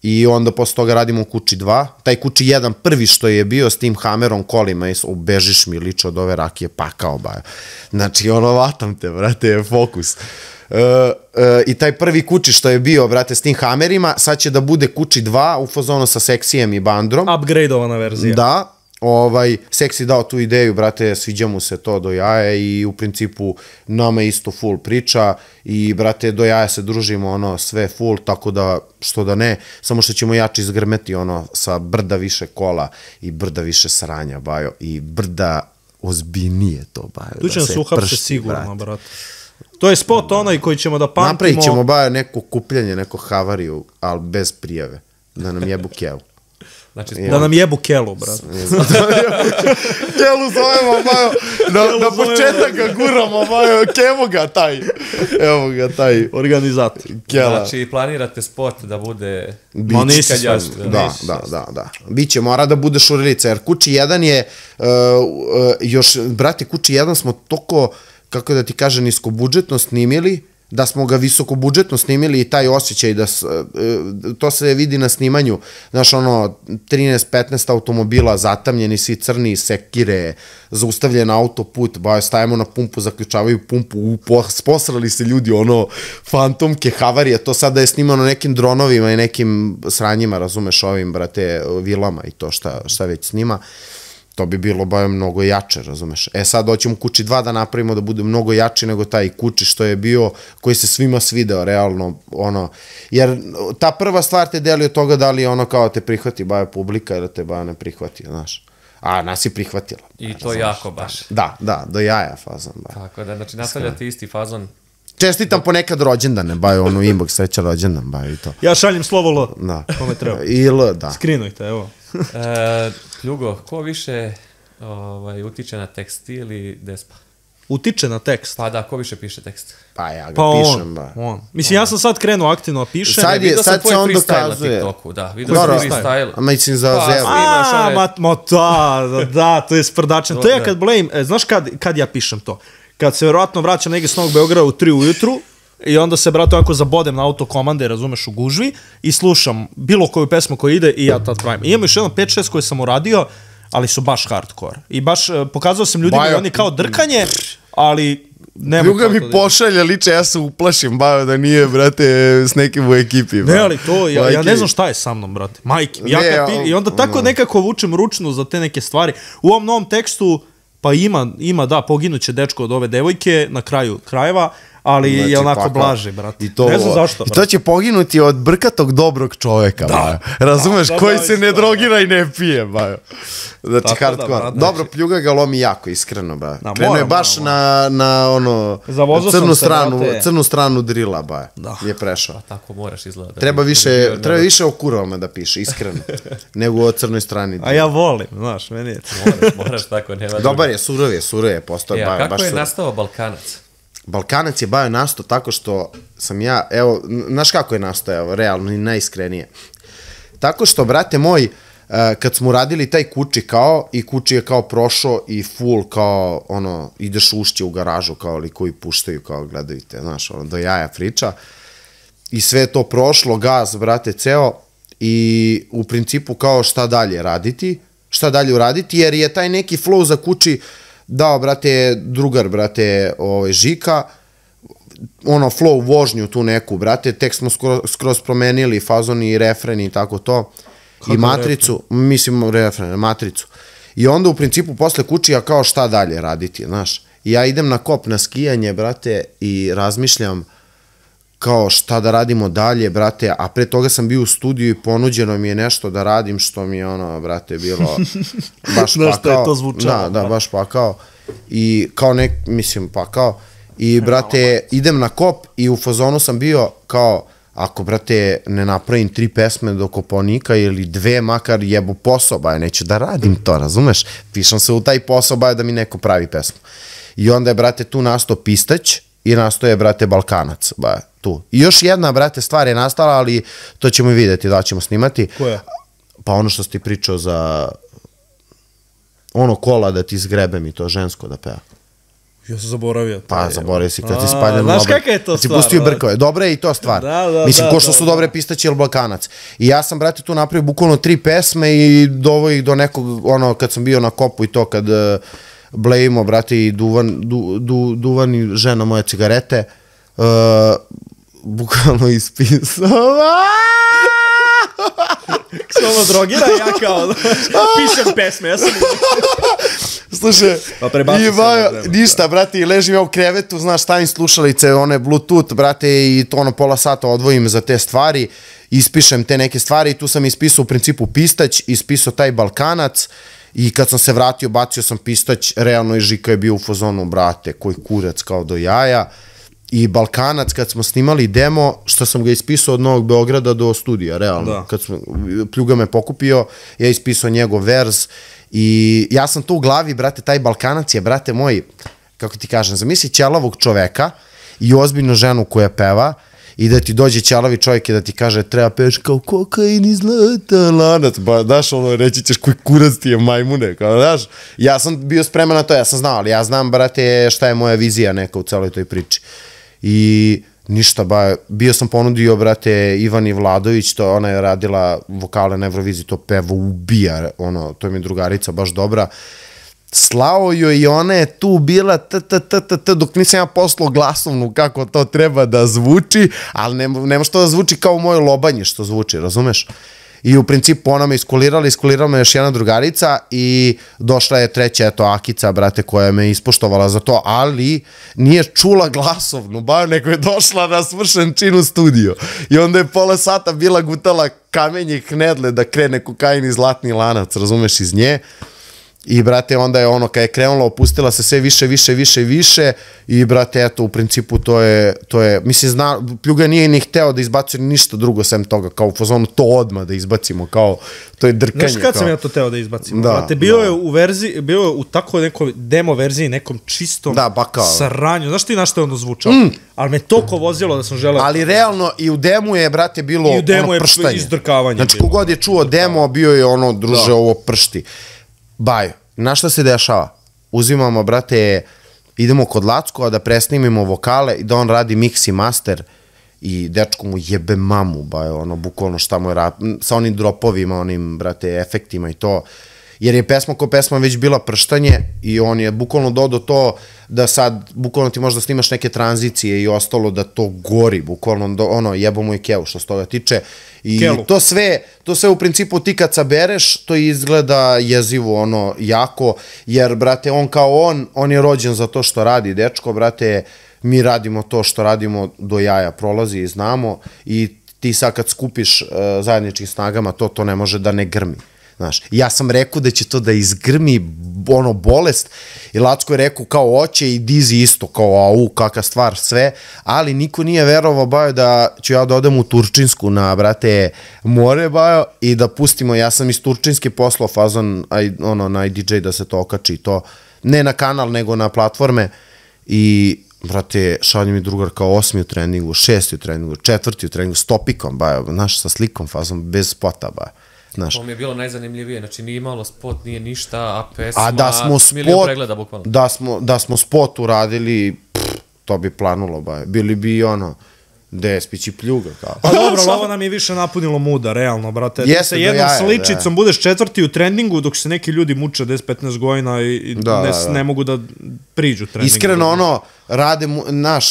I onda posle toga radimo Kući 2. Taj Kući 1 prvi što je bio s tim Hamerom kolima, bežiš mi lično od ove rakije, pakao, Bajo. Znači, vatam te, brate, fokus. I taj prvi Kući što je bio, brate, s tim Hamerima, sad će da bude Kući 2 u fazonu sa Seksijem i Bandrom. Upgradeovana verzija. Da. Seksi dao tu ideju, brate, sviđa mu se to do jaja i u principu nama isto full priča i, brate, do jaja se družimo, sve full, tako da, što da ne, samo što ćemo jače izgrmeti, sa brda više kola i brda više sranja, Bajo, i brda ozbiljnije to, Bajo. Tu će nas uhapse sigurno, brate. To je spot onaj koji ćemo da pamtimo. Napravit ćemo, Bajo, neko kupljanje, neko havariju, ali bez prijave, da nam jebu Kjelu. Znači, da nam jebu Kelu, brate. Kelu zovemo, Bajo, na početak ga guramo, Bajo, evo ga taj organizator. Znači, planirate spot da bude... Da. Biće, mora da bude šurilica, jer Kući 1 je, još, brate, Kući 1 smo toliko, kako da ti kaže, niskobudžetno snimili, da smo ga visokobudžetno snimili i taj osjećaj da to se vidi na snimanju, znaš, 13-15 automobila zatamljeni, svi crni, sekire, zaustavljen autoput, stajemo na pumpu, zaključavaju pumpu, posrali se ljudi, fantomke, havarije, to sada je snimano nekim dronovima i nekim sranjima, razumeš, ovim, brate, vilama i to šta već snima. To bi bilo mnogo jače, razumeš. Sad hoćemo Kući 2 da napravimo da bude mnogo jači nego taj Kući što je bio, koji se svima svideo, realno, jer ta prva stvar te deli od toga da li kao te prihvati Bajo publika ili te Bajo ne prihvati, znaš. A nas je prihvatila. I to jako baš. Da, do jaja fazon. Tako da, znači nastavljate isti fazon. Čestitam ponekad rođendane, Bajo, inbox, sreća rođendan, Bajo i to. Ja šaljem slovo L, kome treba. I L, da. Skrinujte, evo. Pljugo, ko više utiče na tekst ili Despa? Utiče na tekst? Pa da, ko više piše tekst? Pa ja ga pišem, on. Mislim, ja sam sad krenuo aktivno da pišem. Sad se on dokazuje. Da, vidio sam freestyle. A mislim za Zeru. Da, to je sprdačan. To je kad blame, znaš kad ja pišem to? Kad se verovatno vraćam negdje s Novog Beograda u 3 ujutru i onda se, brate, onako zabodem na autokomande, razumeš, u gužvi i slušam bilo koju pesmu koja ide i ja tad pravim. I imam još jedno 5-6 koje sam uradio, ali su baš hardcore. I baš pokazao sam ljudima da oni kao drkanje, ali... Ljuga mi pošalja liče, ja se uplašim, Bajo, da nije, brate, s nekim u ekipi. Ne, ali to, ja ne znam šta je sa mnom, brate. Majke, i onda tako nekako vučem ručnu za te neke stvari. U ovom novom tekstu, pa ima, da, poginuće dečko od ove devojke na kraju krajeva, ali je onako blaži, brate. Ne znam zašto, brate. I to će poginuti od brkatog dobrog čoveka, Bajo. Razumeš, koji se ne drogira i ne pije, Bajo. Znači, hardcore. Dobro, Pljuga ga lomi jako, iskreno, Bajo. Krenuo je baš na crnu stranu drila, Bajo. Je prešao. Pa tako moraš izgledati. Treba više o kurovama da piše, iskreno, nego o crnoj strani drila. A ja volim, znaš, meni je to. Moraš tako, nema druga. Dobar je, surov je, postoje, Bajo. Kako je nastao Balkanac? Balkanac je, Bajo, nastao tako što sam ja, evo, znaš kako je nastao, realno i najiskrenije. Tako što, brate moj, kad smo radili taj Kući kao, i Kući je kao prošao i full kao, ideš ušće u garažu kao li koji puštaju, kao gledajte, znaš, do jaja priča. i sve to prošlo, gas, brate, ceo, i u principu kao šta dalje uraditi, jer je taj neki flow za kući dao, brate, drugar, brate, Žika, ono flow vožnju tu neku, brate, tek smo skroz promenili fazon i refren i tako to, i matricu, matricu. I onda u principu posle kući ja kao šta dalje raditi, znaš. I ja idem na kop na skijanje, brate, i razmišljam kao šta da radimo dalje, brate, a pre toga sam bio u studiju i ponuđeno mi je nešto da radim što mi je ono, brate, bilo baš pakao. Znaš što je to zvučalo. Da, baš pakao. I kao pakao. I, brate, idem na kop i u fazonu sam bio kao, ako, brate, ne napravim 3 pesme do Kopaonika ili 2, makar jebu posao, baje, neću da radim to, razumeš? Pišam se u taj posao, baje, da mi neko pravi pesmu. I onda je, brate, tu nastao Pistać i nastao je, brate, Balkanac, baje, tu. I još jedna, brate, stvar je nastala, ali to ćemo i vidjeti, da ćemo snimati. Koja? Pa ono što si ti pričao za ono kola da ti zgrebem i to žensko da peva. Ja sam zaboravio. Pa zaboravio si kad ti spaljeno. Znaš kakva je to stvar? Si pustio brkove. Dobra je i to stvar. Mislim, ko što su dobre Pistać ili Balkanac. I ja sam, brate, tu napravio bukvalno 3 pesme i dovo ih do nekog, ono, kad sam bio na kopu i to, kad blejimo, brate, i Duvan i žena moje cigarete, bukvalno ispisao. Samo drogira, ja kao pišem pesme, ja sam... Slušaj, ništa, brate, i ležim ja u krevetu, znaš, stavim slušalice, one Bluetooth, brate, i to ono pola sata odvojim za te stvari, ispišem te neke stvari i tu sam ispisao u principu Pistać, ispisao taj Balkanac i kad sam se vratio, bacio sam Pistać, realno i Žika je bio u fazonu, brate, koji kurac kao do jaja. I Balkanac, kad smo snimali demo, što sam ga ispisao od Novog Beograda do studija, realno. Kad Pljuga me pokupio, ja ispisao njegov verz i ja sam tu u glavi, brate, taj Balkanac je, brate moj, kako ti kažem, zamisli ćelavog čoveka i ozbiljnu ženu koja peva i da ti dođe ćelavi čovjek i da ti kaže treba peš kao kokain i zlatan lanac, ba, daš, ono, reći ćeš koji kurac ti je majmune, kao, daš, ja sam bio spreman na to, ja sam znao, ali ja znam, brate, šta je moja vizija neka u celoj toj priči. I ništa, ba, bio sam ponudio, brate, Ivani Vladović, to ona je radila vokale na Euroviziji, to pevo ubija, ono, to je mi drugarica baš dobra, slao joj i ona je tu bila dok nisam ja poslao glasovnu kako to treba da zvuči, ali nema što da zvuči kao u mojoj Lobanji što zvuči, razumeš? I u principu ona me iskulirala me još jedna drugarica i došla je treća, eto, Akica, brate, koja me ispoštovala za to, ali nije čula glasovnu, bar neko je došla na svršen čin u studio. I onda je pola sata bila gutala kamenje i knedle da krene kokain i zlatni lanac, razumeš, iz nje. I, brate, onda je ono, kad je krenula, opustila se sve više i, brate, eto, u principu to je, mislim, Pljuga nije ni hteo da izbacuje ništa drugo sem toga, kao u fazonu to odmah da izbacimo, kao, to je drkanje. Znaš kad sam ja to teo da izbacimo? Brate, bio je u tako nekoj demo verziji, nekom čistom saranju. Znaš ti na što je ono zvučao? Ali me toliko vozilo da sam želeo... Ali realno i u demu je, brate, bilo ono prštanje. I u demu je izdrkavanje. Znači, kogod je čuo demo, bio je ono, druže, ovo pršti. Baj, na šta se dešava? Uzimamo, brate, idemo kod Lackova da presnimimo vokale i da on radi mix i master i dečko mu jebe mamu, baj, ono, bukvalno šta mu je sa onim dropovima, onim, brate, efektima i to. Jer je pesma ko pesma već bila prštanje i on je bukvalno dodao to da sad, bukvalno ti možda snimaš neke tranzicije i ostalo da to gori, bukvalno, ono, jebo mu i kevu što se toga tiče. I to sve u principu ti kad sabereš, to izgleda jezivo, ono, jako, jer, brate, on kao on je rođen za to što radi, dečko, brate, mi radimo to što radimo do jaja, prolazi i znamo i ti sad kad skupiš zajedničkim snagama, to ne može da ne grmi. Znaš, ja sam rekao da će to da izgrmi ono bolest i Lacko je rekao kao oće i Dizi isto, kao au, kakva stvar, sve, ali niko nije verovao, bajo, da ću ja da odem u Turčinsku na, brate, more, bajo, i da pustimo, ja sam iz Turčinske poslao fazon, ono, na IDJ da se to okači, to, ne na kanal, nego na platforme i, brate, šalje mi drugar kao 8. u treningu, 6. u treningu, 4. u treningu, s topikom, bajo, znaš, sa slikom, fazon, bez spota, bajo. To mi je bilo najzanimljivije, znači nije imalo spot, nije ništa, a pesma, milion pregleda bukvalno. Da smo spot uradili, to bi planulo, bili bi ono, Despić i pljuga, kao. Pa dobro, ali ovo nam je više napunilo muda, realno, brate. Ti Jeste, sa do jednom jaja, sličicom budeš četvrti u trendingu, dok se neki ljudi muče 10-15 godina i ne mogu da priđu trendingu. Iskreno, ono,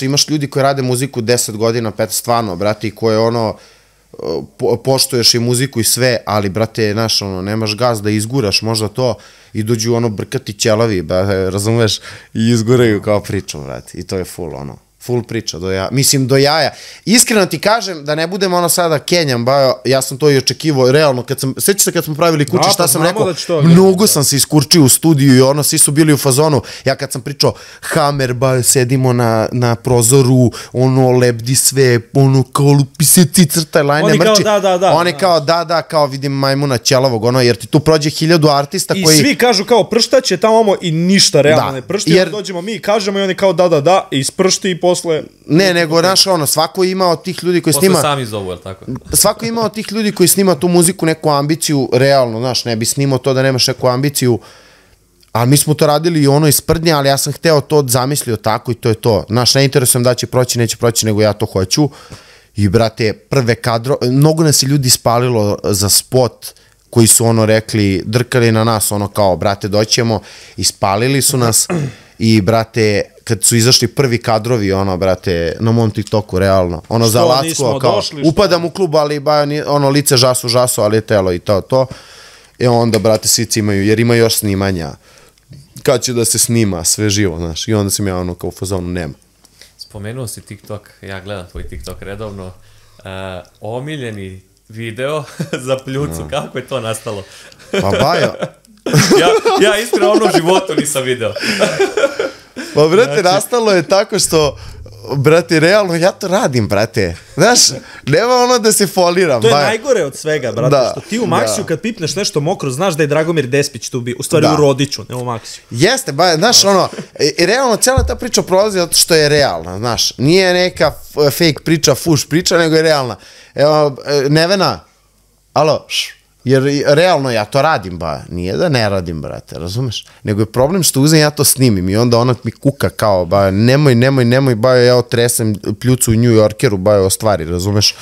imaš ljudi koji rade muziku 10 godina, 15, stvarno, brate, i koje, ono, poštuješ i muziku i sve, ali, brate, znaš, ono, nemaš gas da izguraš možda to i dođu, ono, brkati ćelavi, razumeš, i izguraju kao priču, brate, i to je full, ono. Full priča, mislim do jaja. Iskreno ti kažem, da ne budem ono sada Kenjam, ja sam to i očekivao, realno, sjećaš se kad smo pravili kuće, šta sam rekao, mnogo sam se iskurčio u studiju i ono, svi su bili u fazonu, ja kad sam pričao, Hammer, sedimo na prozoru, ono, lebdi sve, ono, kao lupi se crtaj, lajne, mrči. Oni kao, kao vidim majmuna ćelavog, ono, jer ti tu prođe 1000 artista koji... I svi kažu kao prštaće tamo i ništa realno ne pršti, jer dođemo mi, kažemo i oni kao da, i ispršti i posle... Ne, nego, znaš, ono, svako ima od tih ljudi koji snima... Posle sami zovu, jel tako? Svako ima od tih ljudi koji snima tu muziku neku ambiciju, realno, znaš, ne bi snimao to da nemaš neku ambiciju, ali mi smo to radili i ono iz sprdnja, ali ja sam hteo to zamislio tako i to je to. Znaš, ne interesujem da će proći, neće proći, nego ja to hoću. I, brate, prve kadro... Mnogo nas je ljudi spalilo za spot koji su, ono, rekli, drkali na nas, ono, kao, brate, doćemo, i spalili su nas i, brate... Kad su izašli prvi kadrovi, ono, brate, na mom TikToku, realno. Ono, za Lacko, kao, upadam u klub, ali, ono, lice žasu, ali je telo i to. I onda, brate, svi imaju, jer ima još snimanja. Kad će da se snima, sve živo, znaš. I onda sam ja, ono, kao u fazonu, nema. Spomenuo si TikTok, ja gledam tvoj TikTok redovno. Omiljeni video za pljucu, kako je to nastalo? Pa, Bajo. Ja iskreno ono u životu nisam video. Pa, brate, nastalo je tako što, brate, realno, ja to radim, brate. Znaš, nema ono da se foliram. To je najgore od svega, brate, što ti u Maksiju kad pipneš nešto mokro, znaš da je Dragomir Despić tu bio, u stvari u Rodiću, ne u Maksiju. Jeste, znaš, ono, i realno, cijela ta priča prolazi zato što je realna, znaš, nije neka fake priča, fuš priča, nego je realna. Evo, Nevena, alo, jer realno ja to radim, nije da ne radim, brate, razumeš? Nego je problem što uzem ja to snimim i onda ona mi kuka kao, nemoj, ja otresem pljucu u New Yorkeru, o stvari, razumeš?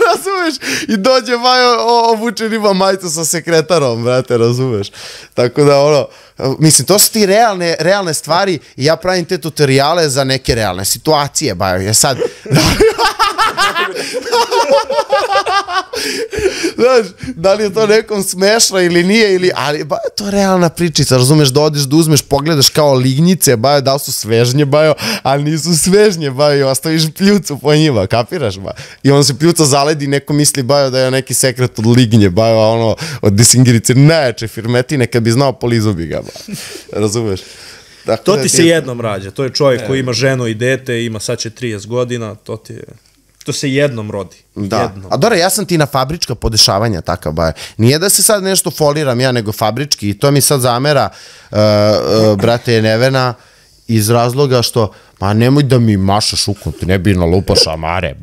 Razumeš? I dođe obučen ima majicu sa sekretarom, brate, razumeš? Tako da, ono, mislim, to su ti realne stvari i ja pravim te tutoriale za neke realne situacije, je sad... Znaš, da li je to nekom smešno ili nije, ali to je realna pričica, razumeš, da odeš da uzmeš, pogledaš kao lignjice, da li su svežnje, ali nisu svežnje, i ostaviš pljucu po njima, kapiraš, i on se pljuca zaledi, neko misli, da je neki sekret od lignje, ono, od desingirice, najjače firmetine, kad bi znao, polizo bi ga, razumeš. To ti se jednom rađa, to je čovjek koji ima ženu i dete, ima sad će 30 godina, to se jednom rodi. Da, a dobro, ja sam ti na fabrička podešavanja takav, nije da se sad nešto foliram ja, nego fabrički, i to mi sad zamera, brate Nevena, iz razloga što, pa nemoj da mi mašaš ukom, ti ne bi nalupaš amare,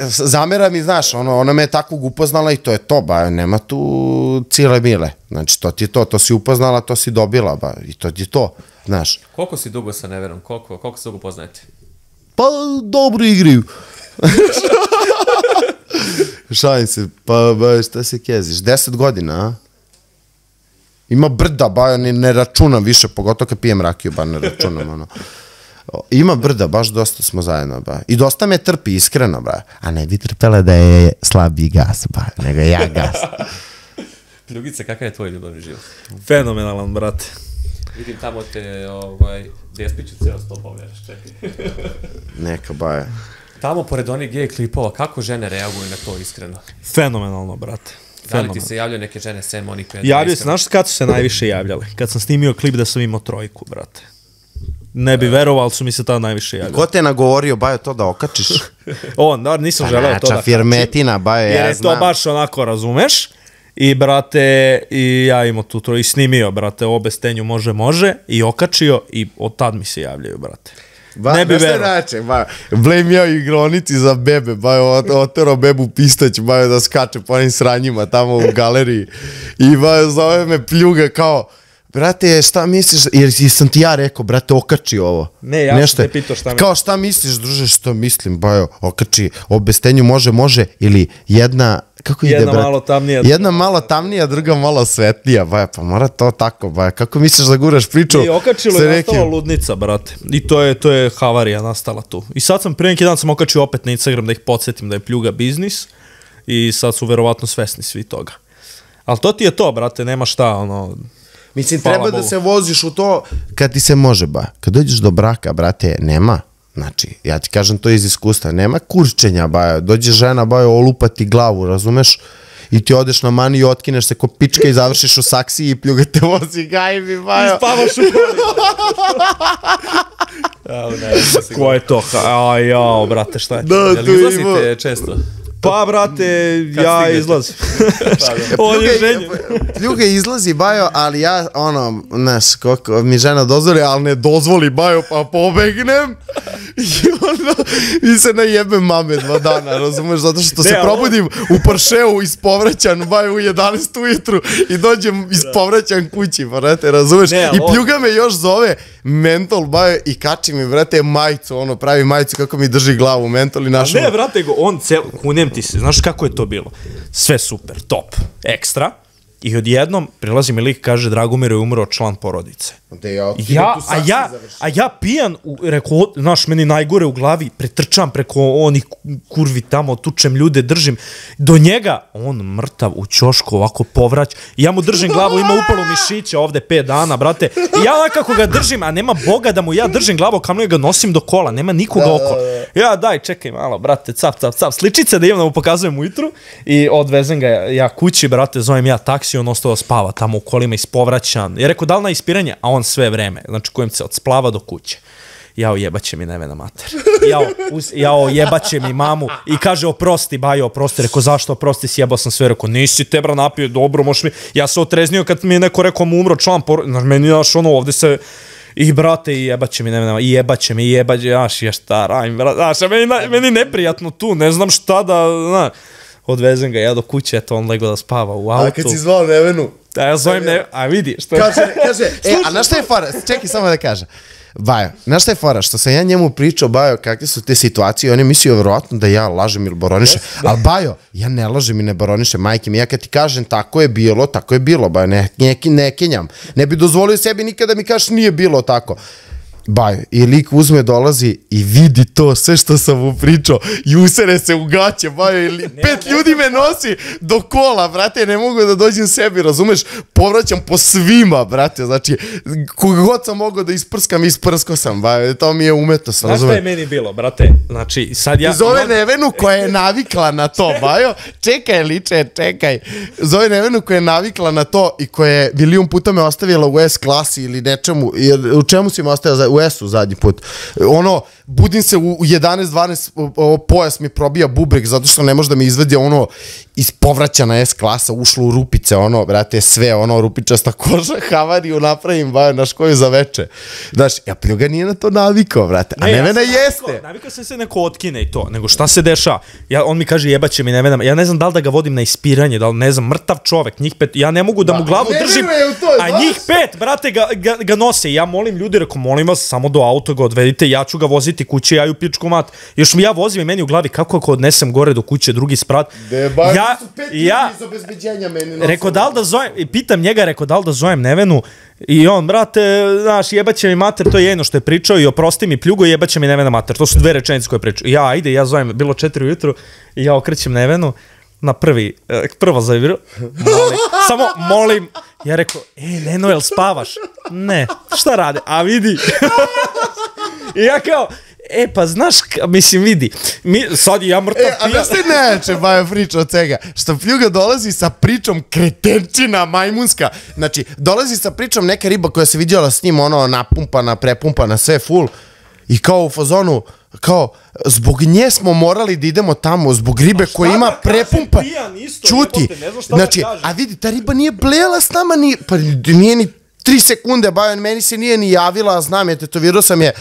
zamera mi, znaš, ona me je takvog upoznala i to je to, nema tu cile mile, znači to ti je to si upoznala, to si dobila, i to ti je to, znaš. Koliko si dugo sa Nevenom, koliko se dugo poznajete? Pa dobro igraju. Šalim se, pa šta se keziš, 10 godina, a? Ima brda, ne računam više, pogotovo kad pijem rakiju, ne računam, ono. Ima brda, baš dosta smo zajedno, i dosta me trpi, iskreno, a ne bi trpela da je slabiji gas, nego ja gas. Pljugice, kakav je tvoj ljubavni život? Fenomenalan, brate. Vidim tamo te, Despiću cijelo sto pogledaš, čekaj. Neka, Tamo, pored onih gej klipova, kako žene reaguju na to, iskreno? Fenomenalno, brate. Da li ti se javljaju neke žene sem onih koje... Javljaju se, znaš kad su se najviše javljale? Kad sam snimio klip da sam imao 3, brate. Ne bi verovao, ali su mi se tada najviše javljali. Ko te je nagovorio, to da okačiš? Nisam želeo to da kačim. Firmetina, ja znam. Jer je to baš onako, razumeš? I, brate, i ja imao tu i snimio, brate, obe stenju može, i okačio, i od tad mi se javljaju, brate. Ne bi verovao. Blame ja u igronici za bebe, otero bebu pistać, da skače po onim sranjima tamo u galeriji. I zove me pljuga kao, brate, šta misliš, jer sam ti ja rekao, brate, okači ovo. Ne, ja sam te pitao šta misliš. Kao šta misliš, druže, što mislim, bajo, okači, obestenju može, ili jedna, kako ide, brate? Jedna malo tamnija, druga malo svetlija, baja, pa mora to tako, baja, kako misliš da guraš priču? I okačilo je nastala ludnica, brate, i to je havarija nastala tu. I sad pre neki dan sam okačio opet na Instagram da ih podsjetim da je pljuga biznis i sad su verovatno svesni svi toga. Ali to ti je to, brate, nema šta, ono... Mislim, treba da se voziš u to kad ti se može, ba. Kad dođeš do braka, brate, nema. Znači, ja ti kažem to iz iskustva, nema kurčenja, ba. Dođe žena, ba, olupati glavu, razumeš? I ti odeš na mani i otkineš se ko pička i završiš u saksiji i pljuga te vozi, gajbi, ba. I spavaš u koli. Ko je to? Jao, brate, šta je? Jel izlazite često? Pa, brate, ja izlazim. On je ženjen. Pljuga izlazi, bajo, ali ja, ono, znaš, koliko mi žena dozvoli, ali ne dozvoli, bajo, pa pobegnem. I ono, i se najebem mame 2 dana, razumeš, zato što se probudim u Porscheu ispovraćan, bajo, u 11 ujutru i dođem ispovraćan kući, brate, razumeš. I pljuga me još zove mentol, bajo, i kači mi, brate, majicu, ono, pravi majicu kako mi drži glavu, mentol i našo. Ne, brate, on kunem ti se, znaš kako je to bilo? Sve super, top, ekstra. I odjednom prilazi mi lik, kaže, Dragomir je umro član porodice. A ja pijan, rekao, znaš, meni najgore u glavi, pretrčam preko onih kurvi tamo, tučem ljude, držim. Do njega, on mrtav u ćošku, ovako povrać. I ja mu držim glavu, ima upalu mišića ovde 5 dana, brate. I ja onako ga držim, a nema Boga da mu ja držim glavu, kao ga nosim do kola, nema nikoga oko. Ja, daj, čekaj malo, brate, cap, sličice da imam da mu pokazujem ujutru. I odvezem ga ja kući, brate, zovem ja taksi, on ostao da spava tamo u kolima ispovraćan. Ja rekao, da li na ispiranje? A on sve vreme, znači kojem se od splava do kuće. Jao, jebaće mi nevena mater. Jao, jebaće mi mamu. I kaže, oprosti, bajo, oprosti. Rekao, zašto oprosti, sjebao sam sve. Rekao, nisi te, bra, napio, dobro, možeš mi... Ja se otreznio kad mi je neko rekao, mu umro član, meni, znaš, ono, ovde se... I, brate, i jebaće mi nevena, i jebaće mi, znaš, ja šta radim, brate, znaš, meni neprijatno tu, ne znam šta da, znaš. Odvezem ga ja do kuće, eto, on lego da spava u autu. A kad si zvao Nevenu? Da, ja zovem Nevenu, a vidi, što... Kaže, a znaš šta je fora? Čekaj samo da kaže. Bajo, znaš šta je fora? Što sam ja njemu pričao, Bajo, kakve su te situacije, on je mislio vjerovatno da ja lažem ili baronišem, ali Bajo, ja ne lažem i ne baronišem, majke mi, ja kad ti kažem tako je bilo, Bajo, ne kenjam. Ne bi dozvolio sebi nikada mi kažeš nije bilo tako. Bajo, i lik uzme, dolazi i vidi to, sve što sam mu pričao i usere se u gaće, Bajo, 5 ljudi me nosi do kola, brate, ne mogu da dođem sebi, razumeš, povraćam po svima, brate, znači, koga god sam mogao da isprskam, isprskao sam, Bajo, to mi je umetnost, razumeš. Znaš šta je meni bilo, brate, znači, sad ja... Zove Nevenu koja je navikla na to, Bajo, čekaj, zove Nevenu koja je navikla na to i koja je milion puta me ostavila u S klasi ili nečemu, u čemu si me ostavila u S-u zadnji put. Ono, budim se u 11-12, pojas mi probija bubreg zato što ne može da mi izvedi ono iz povraćana S klasa, ušlo u rupice, ono, brate, sve, ono, rupičasta koža, havariju napravim, Bajo, naš koju za veče. Znaš, ja pljuga nije na to navikao, brate, a Nevena jeste. Navikao sam se neko otkine i to, nego šta se dešava? On mi kaže, jebaće mi Nevena, ja ne znam da li da ga vodim na ispiranje, da li, ne znam, mrtav čovek, njih 5, ja ne mogu da mu glavu držim, a njih 5, brate, ga nose. Ja molim ljudi, rekao, molim vas, samo do auto ga odvedite, ja ću ga voziti kuće, ja ju pičku mat. Još mi ja vozim i meni u glavi, kako ako odnesem gore do kuće, drugi sprat. Rekao, da li da zovem, pitam njega, rekao, da li da zovem Nevenu i on, brate, znaš, jebaće mi mater, to je jedno što je pričao i oprosti mi pljugo, jebaće mi Nevena mater. To su 2 rečenice koje pričao. Ja, ajde, ja zovem, bilo 4 ujutru i ja okrećem Nevenu na prvo zaviru, samo molim, ja rekao, Neno, jel spavaš? Ne, šta rade? A vidi. I ja kao, pa znaš, mislim, vidi, sad ja mrtav pijan. A da ste neče, Bajo, priča od svega, što pljuga dolazi sa pričom kretenčina majmunska, znači, dolazi sa pričom neka riba koja se vidjela s njim, ono, napumpana, prepumpana, sve full, i kao u fazonu, kao, zbog nje smo morali da idemo tamo, zbog ribe koja ima prepumpa, čuti, znači, a vidi, ta riba nije blela s nama, pa nije ni 3 sekunde, bajo, meni se nije ni javila, znam je, tetovirao sam je.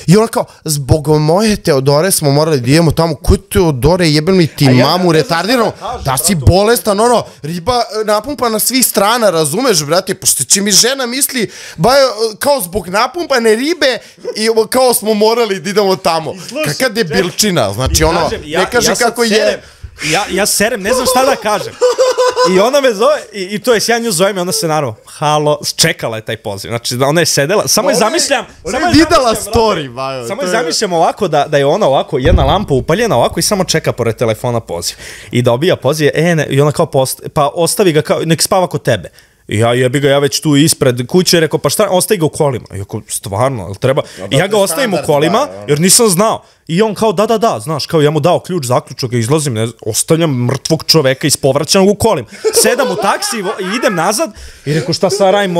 I ona kao, zbog moje Teodore smo morali da idemo tamo, ko Teodore, jebem li ti mamu retardirano, da si bolestan, ono, riba napumpana svih strana, razumeš, brate, pošto će mi žena misli, bajo, kao zbog napumpane ribe, i kao smo morali da idemo tamo. Kakva debilčina, znači ono, ne kaže kako je... Ja serem, ne znam šta da kažem. I ona me zove, i to je, ja nju zovem i ona se naravno, halo, čekala je taj poziv. Znači, ona je sedela, samo je zamišljam... Ona je videla story, bajo. Samo je zamišljam ovako, da je ona ovako, jedna lampa upaljena ovako i samo čeka pored telefona poziv. I dobija poziv, i ona kao, pa ostavi ga kao, nek spava kod tebe. I ja jebi ga, ja već tu ispred kuće, rekao, pa šta, ostavi ga u kolima. I ako, stvarno, jel treba? I ja ga ostavim u kolima, jer nisam znao. I on kao, da, znaš, kao ja mu dao ključ, zaključak, izlazim, ostavljam mrtvog čoveka ispovraćanog u kolim. Sedam u taksi i idem nazad i rekao, šta sad radim,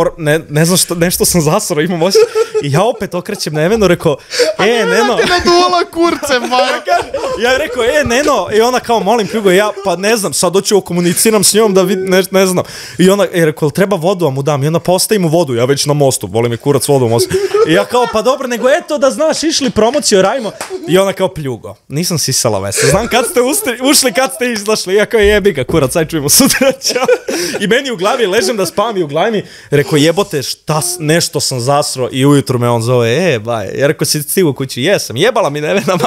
ne znam šta, nešto sam zasrao, imam osjećaj. I ja opet okrećem Nevenu, rekao, Neno. Ti naduvala kurcem, ja rekao, Neno, i ona kao, molim pljugo, ja, pa ne znam, sad doću komuniciram s njom da ne znam. I ona, rekao, treba vodu, a mu dam, i onda postavim mu vodu, ja već na mostu, volim je kurac vodu u mostu. I ja kao, pa dobro, nego eto da znaš, išli promociju, radimo. I ona kao, pljugo, nisam sisala vese, znam kad ste ušli, kad ste izašli, ja kao, jebi ga, kurac, sad čujemo sutra, čao. I meni u glavi, ležem da spavam i u glavi mi, rekao, jebote, nešto sam zasro i ujutru me on zove, baj, ja rekao, si stigu kući, jesam, jebala mi Nevena,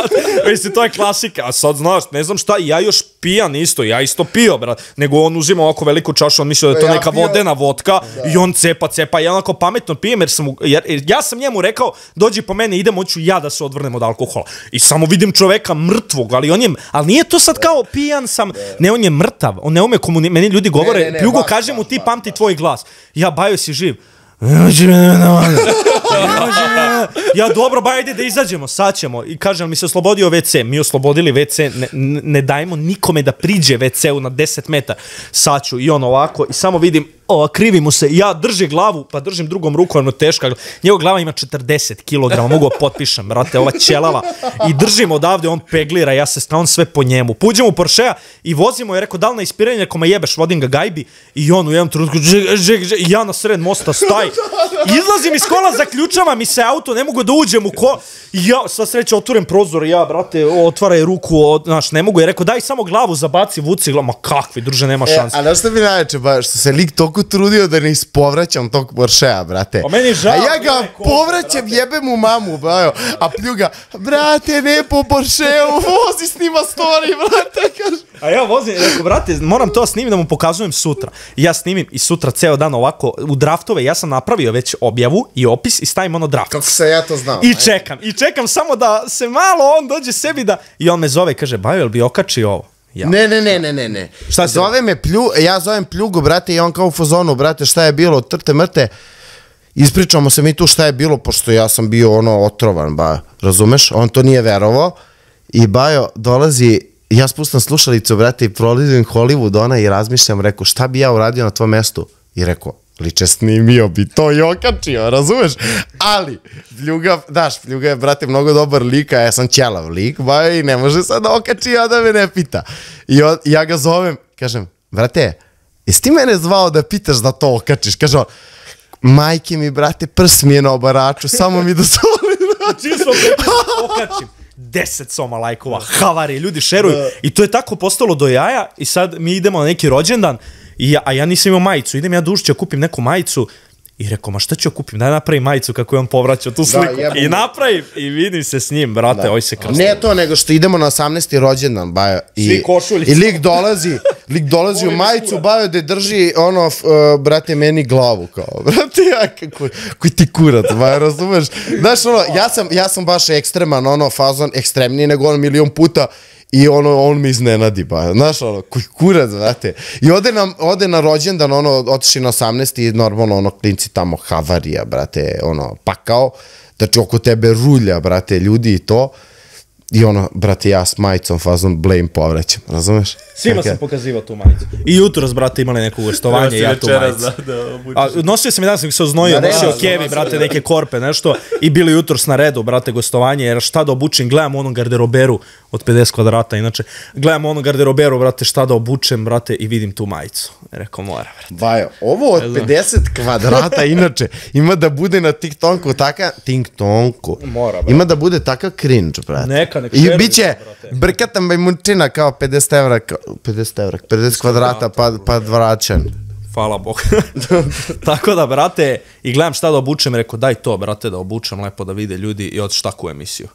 mislim, to je klasika, a sad znaš, ne znam šta, ja još pijan isto, ja isto pio, brat, nego on uzima ovako veliku čašu, on mislio da je to neka vodena vodka i on cepa, ja onako pametno pijem, jer ja sam njemu rekao, dođi po mene, idemo, hoću ja da se odvrnem od alkohola. I samo vidim čoveka mrtvog, ali nije to sad kao pijan sam, ne, on je mrtav, on ne ume meni ljudi govore, pljugo, kaže mu ti pamti tvoj glas. Ja, bajo, si živ. Ja, dobro, ba, ajde da izađemo, sad ćemo. I kažem, mi se oslobodio WC, mi oslobodili WC, ne dajemo nikome da priđe WC-u na 10 metara. Sad ću, i on ovako, i samo vidim, krivi mu se, ja držim glavu, pa držim drugom rukom, ono teška, njegov glava ima 40 kg, mogu potpišem, brate, ova ćelava, i držim odavde, on peglira, ja se stavim sve po njemu. Puđem u Porschea i vozimo, je rekao, da li na ispiranje, ako me jebeš, vodim ga gajbi, i on u jednom trenutku, i ja na sred mosta staj, izlazim iz kola, zaključava mi se auto, ne mogu da uđem u kola, i ja, sva sreća, otvorim prozor, ja, brate, otvaraj ruku, znaš, ne mogu, je rekao, daj samo glavu zabaci, vuci glavu, ma kakvi, druže, nema šanse. A znaš što bi najveće, ba, što se lik toliko trudio da ne ispovraćam tog Porschea, brate. A meni žao. A ja ga povraćam, jebem u mamu, bajo, a pljuga, brate, ne po Porscheu, vozi snima story, brate, kaže. A ja vozim, rekao, brate, moram to snimiti da mu pokazujem sutra. I ja snimim i sutra ceo dan ovako, u draftove, ja sam napravio već objavu i opis i stavim ono draft. Kako se ja to znao. I čekam samo da se malo on dođe sebi da, i on me zove i kaže, bajo, jel bi okačio ovo? Ja. Ne. Šta zove me ja zovem pljugu, brate, i on kao u fazonu, brate, šta je bilo, trte mrte, ispričamo se mi tu šta je bilo, pošto ja sam bio ono otrovan, ba, razumeš, on to nije verovao, i bajo dolazi, ja spustam slušalicu, brate, i prolizim Hollywood ona i razmišljam, rekao, šta bi ja uradio na tvojom mestu? I rekao, liče, snimio bi to i okačio, razumeš? Ali, Pljuga je, brate, mnogo dobar lik, a ja sam ćelav lik, ba, i ne može sad da okači, a da me ne pita. I ja ga zovem, kažem, brate, jesi ti mene zvao da pitaš da to okačiš? Kaže on, majke mi, brate, prs mi je na obaraču, samo mi dozvoli. Čisto okačim. 10 soma lajkova, havari, ljudi šeruju. I to je tako postalo do jaja i sad mi idemo na neki rođendan, a ja nisam imao majicu, idem ja dužće, kupim neku majicu i rekao, ma šta ću kupim, daj napravim majicu kako je on povraćao tu sliku. I napravim i vidim se s njim, brate, oj se krasno. Ne to, nego što idemo na 18. rođendan, bajo. Svi košulji. I lik dolazi u majicu, bajo, da drži, ono, brate, meni glavu, kao, brate, ja, koji ti kurat, bajo, razumeš? Znaš, ono, ja sam baš ekstreman, ono, fazon, ekstremniji nego on milion puta, i on me iznenadi, ba, znaš, ono, koji kurac, znate. I ode na rođendan, ono, otiši na 18. i normalno, ono, klinci tamo havarija, brate, ono, pakao, znači oko tebe rulja, brate, ljudi i to. I ono, brate, ja s majicom fazom blame povrećem, razumeš? Svima sam pokazivao tu majicu. I jutros, brate, imali neko gostovanje i ja tu majicu. Nosio sam i danas, se oznojio, nosio kevi, brate, neke korpe, nešto. I bili jutros na redu, brate, gostovanje, jer šta da obučem, gledam onom garderoberu od 50 kvadrata, inače, gledam onom garderoberu, brate, šta da obučem, brate, i vidim tu majicu. Rekao, mora, brate. Bajo, ovo od 50 kvadrata, inače, ima da bude na TikToku Mora, brate. Ima da bude takav cringe, brate. Neka I bit će brkata bajmunčina kao 50 evra, 50 kvadrata pa vraćan. Hvala Bog. Tako da, brate, i gledam šta da obučem, rekao, daj to, brate, da obučem lepo da vide ljudi i otiš takvu emisiju.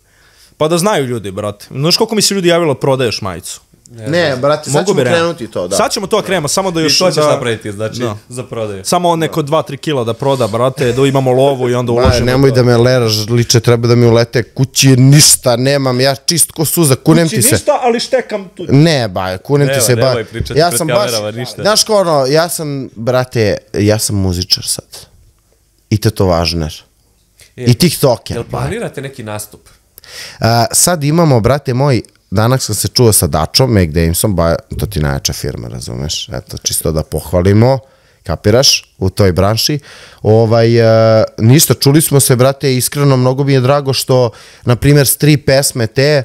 Pa da znaju ljudi, brate. Znaš koliko mi se ljudi javilo prodaješ majicu? Ne, brate, sad ćemo krenuti to, da. Sad ćemo to krenemo, samo da još... I to ćeš napraviti, znači, za prodaju. Samo neko 2-3 kila da proda, brate, da imamo lovu i onda uložimo. Nemoj da me leraš, liče, treba da mi ulete kući, ništa nemam, ja čist ko suza, kunem ti se. Kući ništa, ali štekam tu. Ne, ba, kunem ti se, ba. Nemoj pričati pred kamerama, ništa. Znaš ko ono, ja sam, brate, ja sam muzičar sad. I tetovažner. I tiktoker. Jel planirate neki nastup? Sad imamo, brate moj, danas sam se čuo sa Dačom, Make Damesom, to ti najjača firma, razumeš? Eto, čisto da pohvalimo, kapiraš, u toj branši. Ništa, čuli smo se, brate, iskreno, mnogo mi je drago što, na primjer, s 3 pesme te,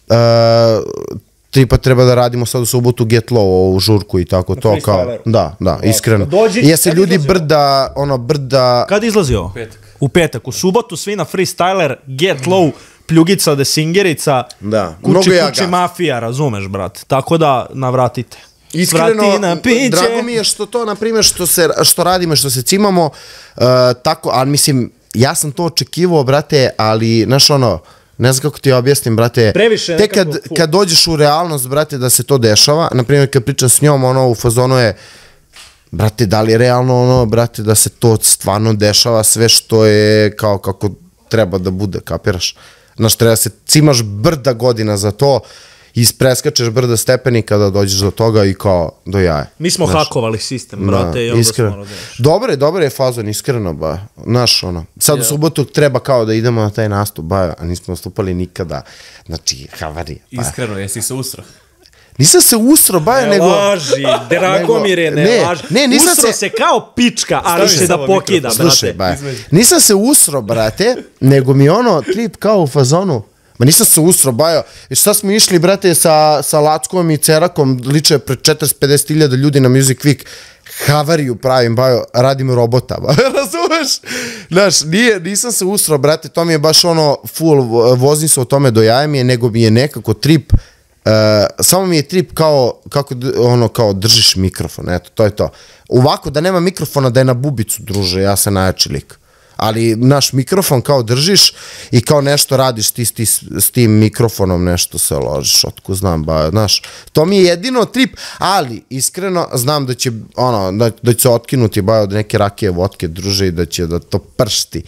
3 pa treba da radimo sad u subotu Get Low, u žurku i tako to, kao, da, iskreno. Jesi ljudi brda... Kad izlazi ovo? U petak. U subotu svi na freestyler, Get Low, Pljugica, Desingerica, Kući mafija, razumeš, brate. Tako da navratite. Iskreno, drago mi je što to, na primjer, što radimo, što se cimamo, tako, ali mislim, ja sam to očekivao, brate, ali, znaš ono, ne znam kako ti objasnim, brate, te kad dođeš u realnost, brate, da se to dešava, na primjer, kad pričam s njom, ono, u fazonu je, brate, da li je realno, ono, brate, da se to stvarno dešava, sve što je kao kako treba da bude, kapiraš? Znaš, treba se cimaš brda godina za to, ispreskačeš brda stepenika da dođeš do toga i kao do jaja. Mi smo hakovali sistem, brate, i onda smo razumiješ. Dobar je fazon, iskreno, ba. Znaš, ono, sad u subotu treba kao da idemo na taj nastup, ba, a nismo nastupali nikada. Znači, havarija. Iskreno, jesi se usro? Nisam se usro, baja, nego... Ne laži, Dragomire, ne laži. Usro se kao pička, ali se da pokida, brate. Slušaj, baja, nisam se usro, brate, nego mi ono trip kao u fazonu. Ma nisam se usro, bajo. I šta smo išli, brate, sa Lackom i Cerakom, liče pred 40-50 hiljada ljudi na Music Week, havariju pravim, bajo, radim robota, ba. Razumeš? Znaš, nisam se usro, brate, to mi je baš ono full, vozim se o tome do jaja mi je, nego mi je nekako trip, samo mi je trip kao, kako, ono, kao držiš mikrofon, eto, to je to. Ovako, da nema mikrofona, da je na bubicu, druže, ja sam najjači lik. Ali naš mikrofon kao držiš i kao nešto radiš ti s tim mikrofonom, nešto se ložiš, otko znam, ba, znaš, to mi je jedino trip, ali iskreno znam da će, ono, da će se otkinuti ba od neke rakije, vodke, druže, i da će da to pršti.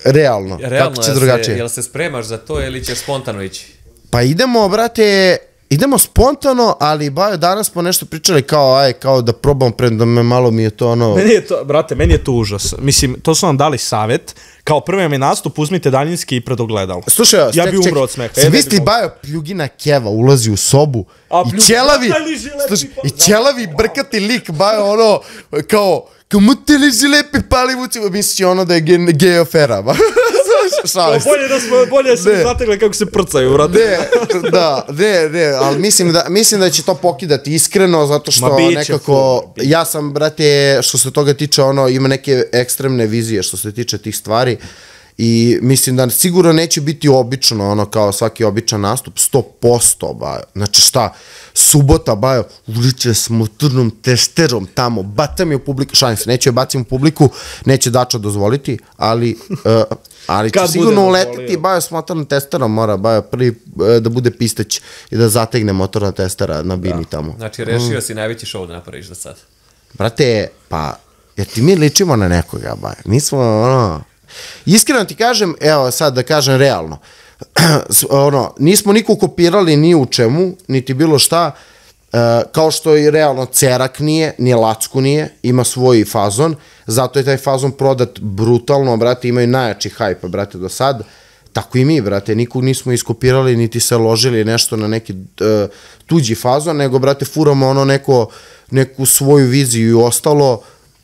Realno, kako će drugačije. Jel se spremaš za to ili ćeš spontano ići? Pa idemo, brate, idemo spontano, ali bajo, danas smo nešto pričali kao da probam da me malo mi je to ono... Brate, meni je to užas. Mislim, to su nam dali savjet. Kao prvi vam je nastup, uzmite daljinski i predogledalo. Slušaj, ja bi umro od smeha. Zamisli, bajo, Pljugina Keva ulazi u sobu i ćelavi brkati lik, bajo, ono, kao mu te liži lepi palivuci, misli ono da je gej afera, ba. Bolje se zategle kako se prcaju, brate. Ne, ali mislim da će to pokidati iskreno, zato što nekako, ja sam, brate, što se toga tiče, ono, ima neke ekstremne vizije što se tiče tih stvari i mislim da sigurno neće biti obično, ono, kao svaki običan nastup, 100%, bajo. Znači šta, subota, bajo, uliče s motornom testerom tamo, batam je u publiku, šalim se, neće je bacim u publiku, neće Dača dozvoliti, ali će sigurno uletiti, bajo, s motornom testerom mora, bajo, prvi da bude pisteć i da zategne motorna testera na bini tamo. Znači, rešio si najveći show da napraviš za sad. Brate, pa, jer ti mi ličimo na nekoga, bajo, nismo, ono... Iskreno ti kažem, evo sad da kažem realno, nismo niko kopirali ni u čemu, niti bilo šta, kao što i realno Cerak nije, ni Lacku nije, ima svoj fazon, zato je taj fazon prodat brutalno, brate, imaju najjači hajpa, brate, do sad, tako i mi, brate, nikog nismo iskopirali, niti se ložili nešto na neki tuđi fazon, nego, brate, furamo ono neku svoju viziju i ostalo,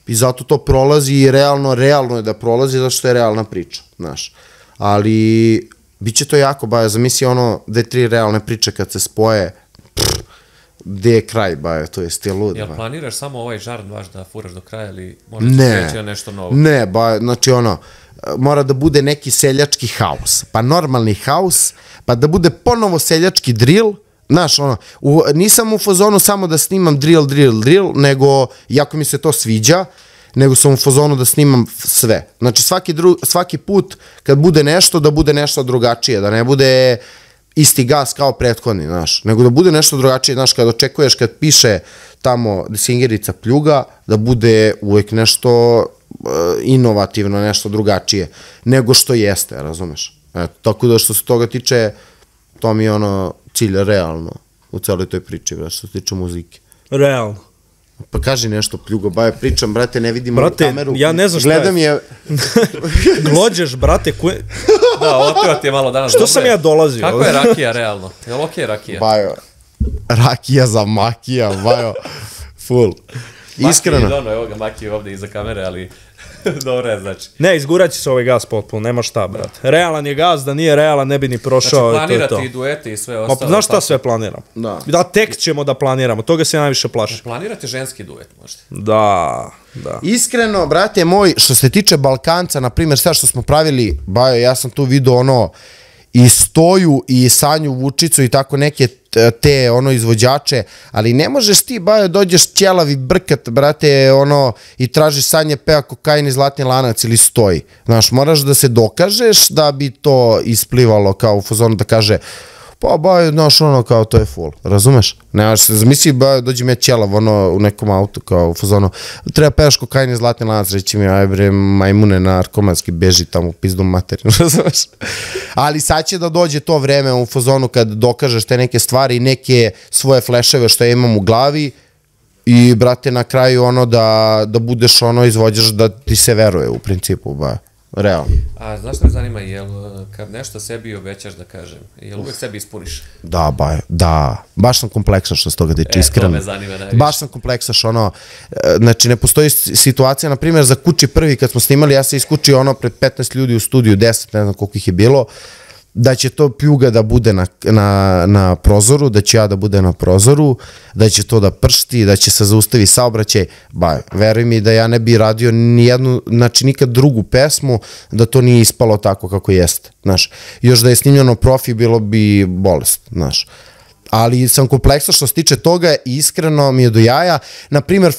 i zato to prolazi i realno je da prolazi, zato što je realna priča, znaš. Ali, bit će to jako, bajo, zamisli ono, 2-3 realne priče kad se spoje, gde je kraj, bajo, to je stil lud. Jel planiraš samo ovaj žarn vaš da furaš do kraja ili možda se kreći na nešto novo? Ne, bajo, znači ono, mora da bude neki seljački haus, pa normalni haus, pa da bude ponovo seljački drill, znaš, ono, nisam u fazonu samo da snimam drill, nego, jako mi se to sviđa, nego sam u fazonu da snimam sve. Znači, svaki put kad bude nešto, da bude nešto drugačije, da ne bude isti gas kao prethodni, znaš, nego da bude nešto drugačije, znaš, kad očekuješ, kad piše tamo Desingerica pljuga, da bude uvek nešto inovativno, nešto drugačije, nego što jeste, razumeš? Eto, tako da što se toga tiče, to mi je ono cilj realno u celoj toj priči, brate, što se tiče muzike. Realno. Pa kaži nešto, pljugo, baje, pričam, brate, ne vidim brate, kameru. Ja ne znam šta gledam je. Glođeš, brate, Da, otveo ti je malo danas. Što sam ja dolazio? Kako je rakija, realno? Jel okej rakija? Bajo, rakija za makija, bajo, full. Iskreno. Makija, evo ga, makija ovde iza kamere, ali dobro je, znači. Ne, izgurat će se ovaj gas potpuno, nema šta, brate. Realan je gas, da nije realan, ne bi ni prošao. Znači, planirati i duete i sve ostalo. Znaš šta sve planiramo? Da, tek ćemo da planiramo, toga se najviše plaši. Planirate ženski duet, možda? Da. Iskreno, brate moj, što se tiče Balkanca, na primjer, sve što smo pravili, bajo, ja sam tu vidio ono, i Stoju, i Sanju Vučicu, i tako neke te, ono, izvođače, ali ne možeš ti, bajo, dođeš ćelavi brkat, brate, ono, i tražiš Sanje peva Kokain i Zlatni lanac ili Stoji. Znaš, moraš da se dokažeš da bi to isplivalo kao u fazonu da kaže, pa, bajo, znaš, ono, kao, to je full, razumeš? Nemaš se, zamisli, bajo, dođem ja ćelav, ono, u nekom autu, kao u fazonu, treba pevaš Kokain i Zlatni lanac, reći mi, aj bre, majmune narkomanski, beži tamo u pizdu materinu, razumeš? Ali sad će da dođe to vreme u fazonu kad dokažeš te neke stvari, neke svoje fleševe što ja imam u glavi i, brate, na kraju, ono, da budeš, ono, izvođaš da ti se veruje, u principu, bajo. Realno. A znaš što me zanima, jel kad nešto sebi obećaš da kažem, jel uvek sebi ispuniš? Da, da. Baš sam kompleksaš što s toga tiče, iskreno. To me zanima najviše. Baš sam kompleksaš, ono, znači ne postoji situacija, na primjer, za Kući prvi kad smo snimali, ja se iskučio ono pred 15 ljudi u studiju, 10, ne znam koliko ih je bilo, da će to pljuga da bude na prozoru, da će ja da bude na prozoru, da će to da pršti, da će se zaustavi saobraćaj. Ba, veruj mi da ja ne bi radio nijednu, znači nikad drugu pesmu, da to nije ispalo tako kako jeste, znaš. Još da je snimljeno profi, bilo bi bolest, znaš. Ali sam kompleksa što se tiče toga i iskreno mi je do jaja. Naprimjer,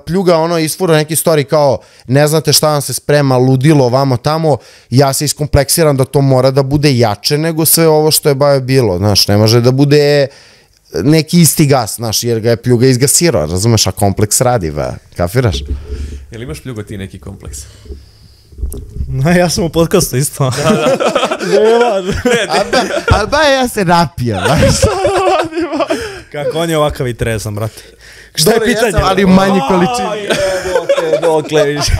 pljuga ono isfura neki story kao ne znate šta vam se sprema, ludilo, vamo tamo, ja se iskompleksiram da to mora da bude jače nego sve ovo što je bajo bilo, znaš, ne može da bude neki isti gas, znaš, jer ga je pljuga izgasirao, razumeš, a kompleks radi, kafiraš? Jel imaš pljugo ti neki kompleks? Ne, ja sam u podcastu isto. Da. Ali ba ja se napijam. Kako on je ovakav i trezan, brate. Šta je pitanje? Ali u manji količini. Ajde, dokle više.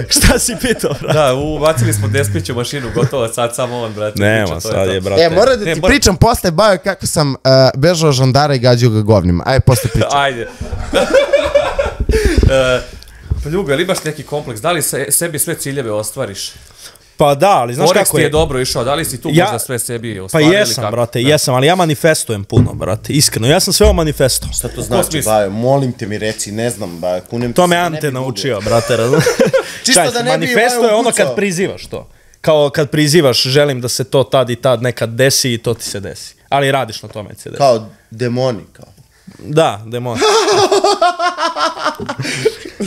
Šta si pitao, brate? Da, ubacili smo despiću mašinu, gotovo, sad samo on, brate. Nema, sad je, brate. Moram da ti pričam posle, bajo, kako sam bežao žandara i gađao ga govnima. Ajde, posle pričam. Ajde. Pljugo, ili imaš neki kompleks? Da li sebi sve ciljeve ostvariš? Pa da, ali znaš Forex kako ti je... je dobro išao, da li si tu možda sve sebi Pa ostvarili? jesam, brate, jesam, ali ja manifestujem puno, brate, iskreno. Ja sam sve o manifestu. Šta to znači, bajo? Molim te mi reci, ne znam, bajo, kunem ti se. To me Ante naučio, brate, razumiješ? Čisto da ne bi manifesto je ono kad prizivaš to. Kao kad prizivaš, želim da se to tad i tad nekad desi i to ti se desi. Ali radiš na tome se desi. Kao demoni, kao. Da, demon.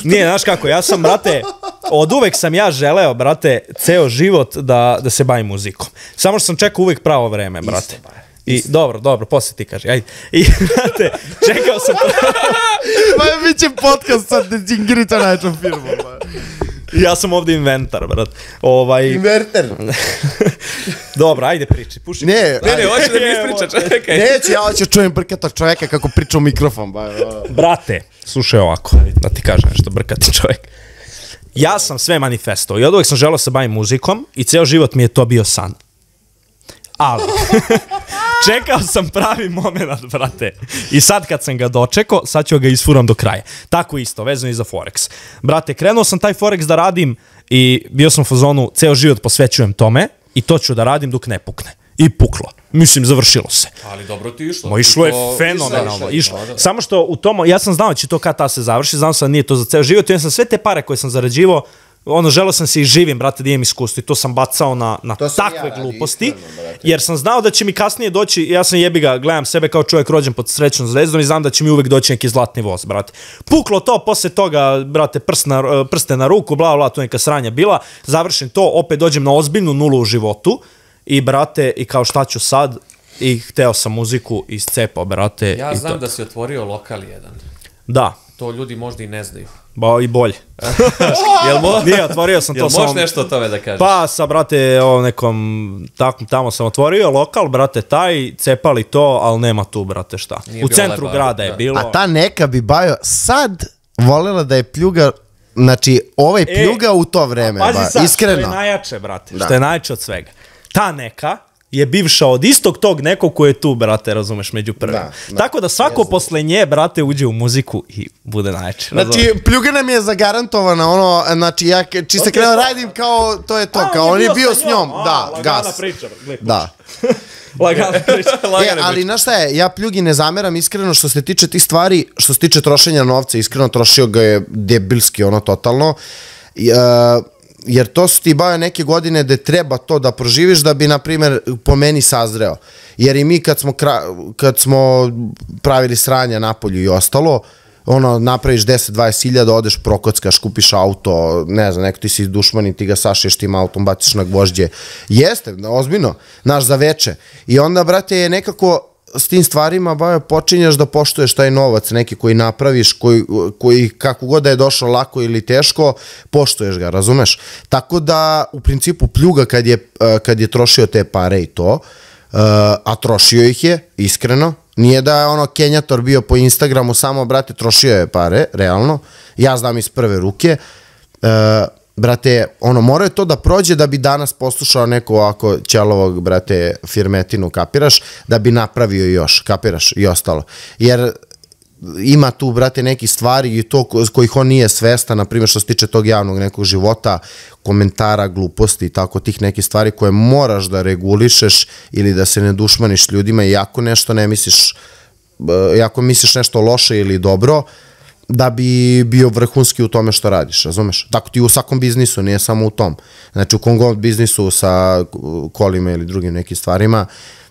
Nije, znaš kako, ja sam, brate, od uvek sam ja želeo, brate, ceo život da se bavim muzikom. Samo što sam čekao uvek pravo vreme, brate. I dobro, posle ti kaži, ajde. I, brate, čekao sam... Ma, bit će podcast sad Desingerica najčom firmom, Ja sam ovdje inventar, brat. Inverter. Dobro, ajde priči. Puši. Ne, hoće da mi ispriča, čekaj. Neće, ja hoću čujem brkatog čoveka kako priča u mikrofon. Brate, slušaj ovako, da ti kažem nešto, brkati čovjek. Ja sam sve manifesto i od uvek sam želeo se bavim muzikom i ceo život mi je to bio san. Ali, čekao sam pravi moment, brate. I sad kad sam ga dočekao, sad ću ga isfuram do kraja. Tako isto, vezano i za Forex. Brate, krenuo sam taj Forex da radim i bio sam u fazonu, ceo život posvećujem tome i to ću da radim dok ne pukne. I puklo. Mislim, završilo se. Ali dobro ti išlo. Ma išlo je fenomenalno. Samo što u tomu, ja sam znao da će to kad ta se završi, znao sam da nije to za ceo život, i ja sam sve te pare koje sam zarađivao, želeo sam se i živim, brate, da imam iskustvo i to sam bacao na takve gluposti, jer sam znao da će mi kasnije doći, ja sam jebiga, gledam sebe kao čovjek rođen pod srećnom zvezdom i znam da će mi uvek doći neki zlatni voz, brate. Puklo to, posle toga, brate, prste na ruku, bla, bla, to neka sranja bila, završim to, opet dođem na ozbiljnu nulu u životu i, brate, i kao šta ću sad, i hteo sam muziku iscepao, brate. Ja znam da si otvorio lokal jedan. Da. To ljudi možda i ne znaju. Ba i bolje. Nije, otvorio sam to. Jel možeš nešto o tome da kažeš? Pa sa, brate, nekom, tamo sam otvorio lokal, brate, taj, cepali to, ali nema tu, brate, šta. U centru grada je bilo. A ta neka bi Bajo sad volela da je pljuga, znači, ovaj pljuga u to vreme, pazi sad, iskreno. Što je najjače, brate, što je najjače od svega. Ta neka je bivša od istog tog nekog koji je tu, brate, razumeš, među prvim. Tako da svako posle nje, brate, uđe u muziku i bude najjače. Znači, pljuga nam je zagarantovana, ono, znači, ja čiste krenuo radim kao, to je to, kao on je bio s njom, da, gas. Lagana priča, da. Lagana priča. Ali, znaš šta je, ja pljugi ne zameram iskreno što se tiče tih stvari, što se tiče trošenja novca, iskreno trošio ga je debilski, ono, totalno. Jer to su ti Bajo neke godine gde treba to da proživiš da bi, na primjer, po meni sazreo. Jer i mi kad smo pravili sranja napolju i ostalo, ono, napraviš 10-20 hiljada, odeš, prokockaš, kupiš auto, ne znam, neko ti si dušman i ti ga sašiješ tim autom, baciš na gvožđe. Jeste, ozbiljno, naš za veče. I onda, brate, je nekako s tim stvarima, Bajo, počinješ da poštuješ taj novac, neki koji napraviš, koji kako god da je došao lako ili teško, poštuješ ga, razumeš? Tako da, u principu, pljuga kad je trošio te pare i to, a trošio ih je, iskreno, nije da je ono Kenjator bio po Instagramu, samo, brate, trošio je pare, realno, ja znam iz prve ruke, brate, ono, mora je to da prođe da bi danas poslušao neko ovako ćelovog, brate, firmetinu, kapiraš, da bi napravio još, kapiraš, i ostalo. Jer ima tu, brate, neki stvari i to kojih on nije svestan, na primjer što se tiče tog javnog nekog života, komentara, gluposti i tako tih nekih stvari koje moraš da regulišeš ili da se ne dušmaniš ljudima i ako nešto ne misliš, ako misliš nešto loše ili dobro, da bi bio vrhunski u tome što radiš, razumeš? Tako ti u svakom biznisu, nije samo u tom. Znači u kom god biznisu sa kolima ili drugim nekim stvarima,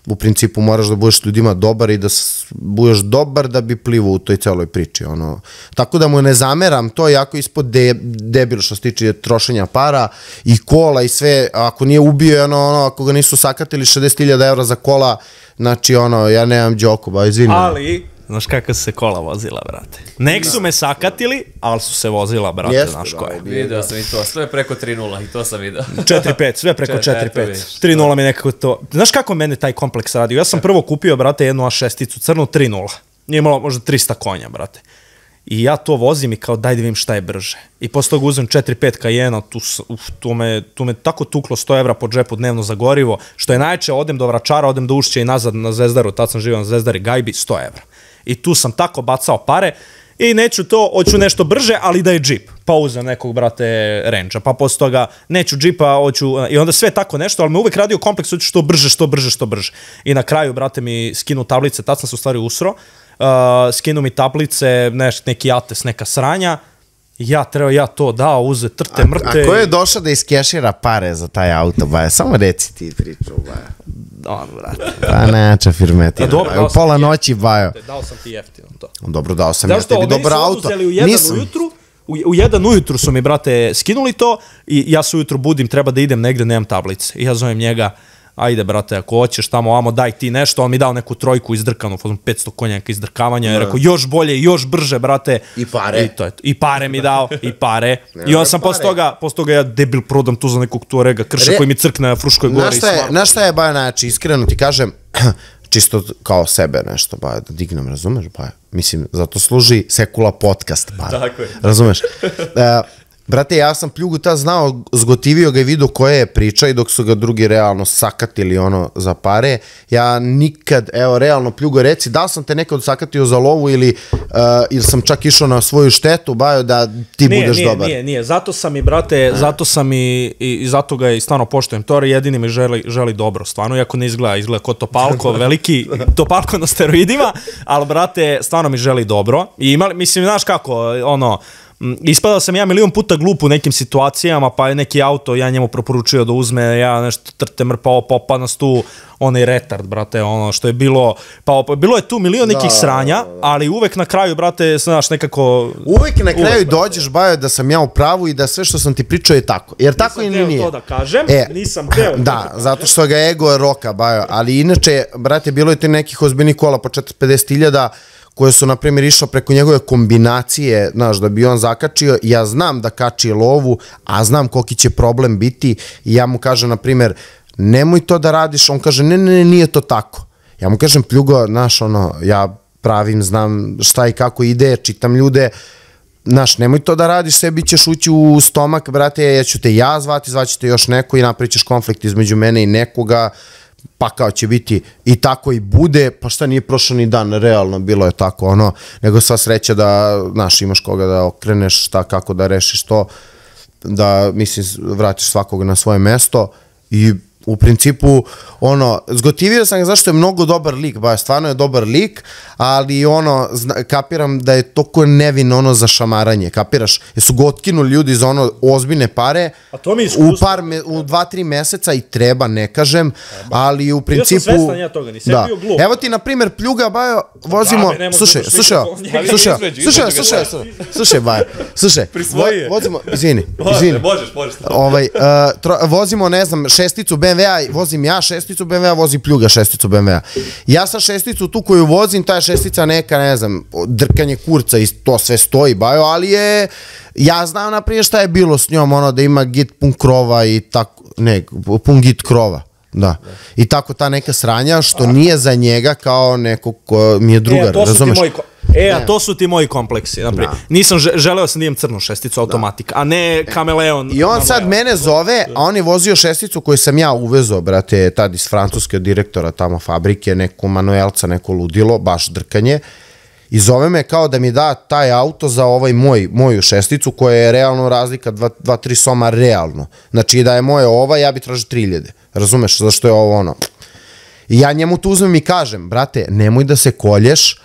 u principu moraš da budeš ljudima dobar i da budeš dobar da bi plivo u toj celoj priči. Ono. Tako da mu ne zameram, to je jako ispod debil što se tiče trošenja para i kola i sve, ako nije ubio, ako ga nisu sakatili 60.000 evra za kola, znači ja nemam džoku, ba izvini. Ali, znaš kako se kola vozila, brate? Nek su me sakatili, ali su se vozila, brate, znaš koje. Video sam i to, sve preko 3-0 i to sam video. 4-5, sve preko 4-5. 3-0 mi nekako to... Znaš kako mene taj kompleks radio? Ja sam prvo kupio, brate, jednu A6-icu crnu, 3-0. Nije imalo možda 300 konja, brate. I ja to vozim i kao daj da vidim šta je brže. I posle toga uzem 4-5 Cayena, tu me tako tuklo 100 evra po džepu dnevno za gorivo, što je najče, odem do Vračara, odem do Ušća i nazad na Zvezdaru, tad sam živio na Zvezdari Gajbi, 100 evra. I tu sam tako bacao pare i neću to, hoću nešto brže, ali da je džip. Pa uzem nekog, brate, Range-a, pa posle toga neću džipa, hoću, i onda sve tako nešto, ali me uvek radio kompleks, hoću što brže, što brže, što brže. I na kraju, brate, mi skinu tablice, tad sam se u stvari usro, skinu mi tablice, neki ates, neka sranja, ja to dao, uze, trte, mrte. A ko je došao da iskešira pare za taj auto, Baja? Samo reci ti priču, Baja. On, brate. Pa neća firmetina. U pola noći, Bajo. Dao sam ti jeftino to. Dobro, dao sam ja tebi dobar auto. U 1 ujutru su mi, brate, skinuli to i ja se ujutru budim, treba da idem negde, nemam tablice. I ja zovem njega, ajde, brate, ako hoćeš tamo, amo, daj ti nešto, on mi dao neku trojku izdrkanu, 500 konjaka izdrkavanja, i rekao, još bolje, još brže, brate. I pare. I pare mi dao, i pare. I on sam posle toga ja debil prodam tu za nekog Tuarega krša koji mi crkne na Fruškoj gori. Znaš šta je, Baja, znači, iskreno ti kažem, čisto kao sebe nešto, Baja, da dignem, razumeš, Baja? Mislim, zato služi Sekula podcast, Baja. Tako je. Razumeš? Brate, ja sam Pljugu tad znao, zgotivio ga i vidio koja je priča i dok su ga drugi realno sakatili za pare. Ja nikad, evo, realno Pljugo, reci, da li sam te nekad sakatio za lovu ili sam čak išao na svoju štetu, Bajo, da ti budeš dobar? Nije. Zato sam i, brate, zato ga i stvarno poštujem. To jedini mi želi dobro, stvarno, iako ne izgleda ko Topalko, veliki Topalko na steroidima, ali, brate, stvarno mi želi dobro. I mislim, znaš kako, ispadao sam ja milion puta glup u nekim situacijama, pa je neki auto, ja njemu preporučio da uzme, ja nešto trte mrpao, popa nas tu, onaj retard, brate, što je bilo, pa bilo je tu milion nekih sranja, ali uvek na kraju, brate, znaš, nekako... Uvek na kraju dođeš, Bajo, da sam ja u pravu i da sve što sam ti pričao je tako, jer tako ili nije. Nisam teo to da kažem, nisam teo. Da, zato što ga ego roka, Bajo, ali inače, brate, bilo je ti nekih ozbiljnih kola po 450.000 koje su, na primjer, išla preko njegove kombinacije, znaš, da bi on zakačio. Ja znam da kači lovu, a znam koliki će problem biti i ja mu kažem, na primjer, nemoj to da radiš, on kaže, ne, nije to tako. Ja mu kažem, Pljugo, znaš, ja pravim, znam šta i kako ide, čitam ljude, znaš, nemoj to da radiš, sebi ćeš ući u stomak, brate, ja ću te zvati, zvaćete još neko i napravit ćeš konflikt između mene i nekoga, pa kao će biti i tako i bude, pa šta nije prošao ni dan, realno bilo je tako, nego sva sreća da, znaš, imaš koga da okreneš, šta, kako da rešiš to, da, mislim, vratiš svakog na svoje mesto i u principu, zgotivio sam ga zašto je mnogo dobar lik, ba, stvarno je dobar lik, ali kapiram da je toliko nevin za šamaranje, kapiraš, jer su ga otkinuli ljudi za ozbiljne pare, u 2-3 meseca i treba, ne kažem, ali u principu... Bio sam svestan ja toga, nisam bio glup. Evo ti, na primjer, Pljuga, Bajo, vozimo... Slušaj, Bajo, vozimo, izvini. Možeš. Vozimo, ne znam, šesticu BMW-a, vozim ja šesticu BMW-a, vozi Pljuga šesticu BMW-a. Ja sam šesticu tu koju vozim, ta je šestica neka, ne znam, drkanje kurca i to sve stoji, Bajo, ali ja znam naprijed šta je bilo s njom, da ima git pun krova i tako, pun git krova. Da. I tako ta neka sranja što nije za njega kao neko ko mi je drugar, razumeš? A to su ti moji kompleksi, naprijed. Nisam, želeo sam da imam crnu šesticu automatik, a ne kameleon. I on sad mene zove, a on je vozio šesticu koju sam ja uvezao, brate, tad iz francuske direktora tamo fabrike, neko manuelca, neko ludilo, baš drkanje. I zove me kao da mi da taj auto za moju šesticu koja je realno razlika 2-3 soma realno. Znači da je moje ja bi tražio 3.000. Razumeš zašto je ovo I ja njemu tu uzmem i kažem, brate, nemoj da se kolješ,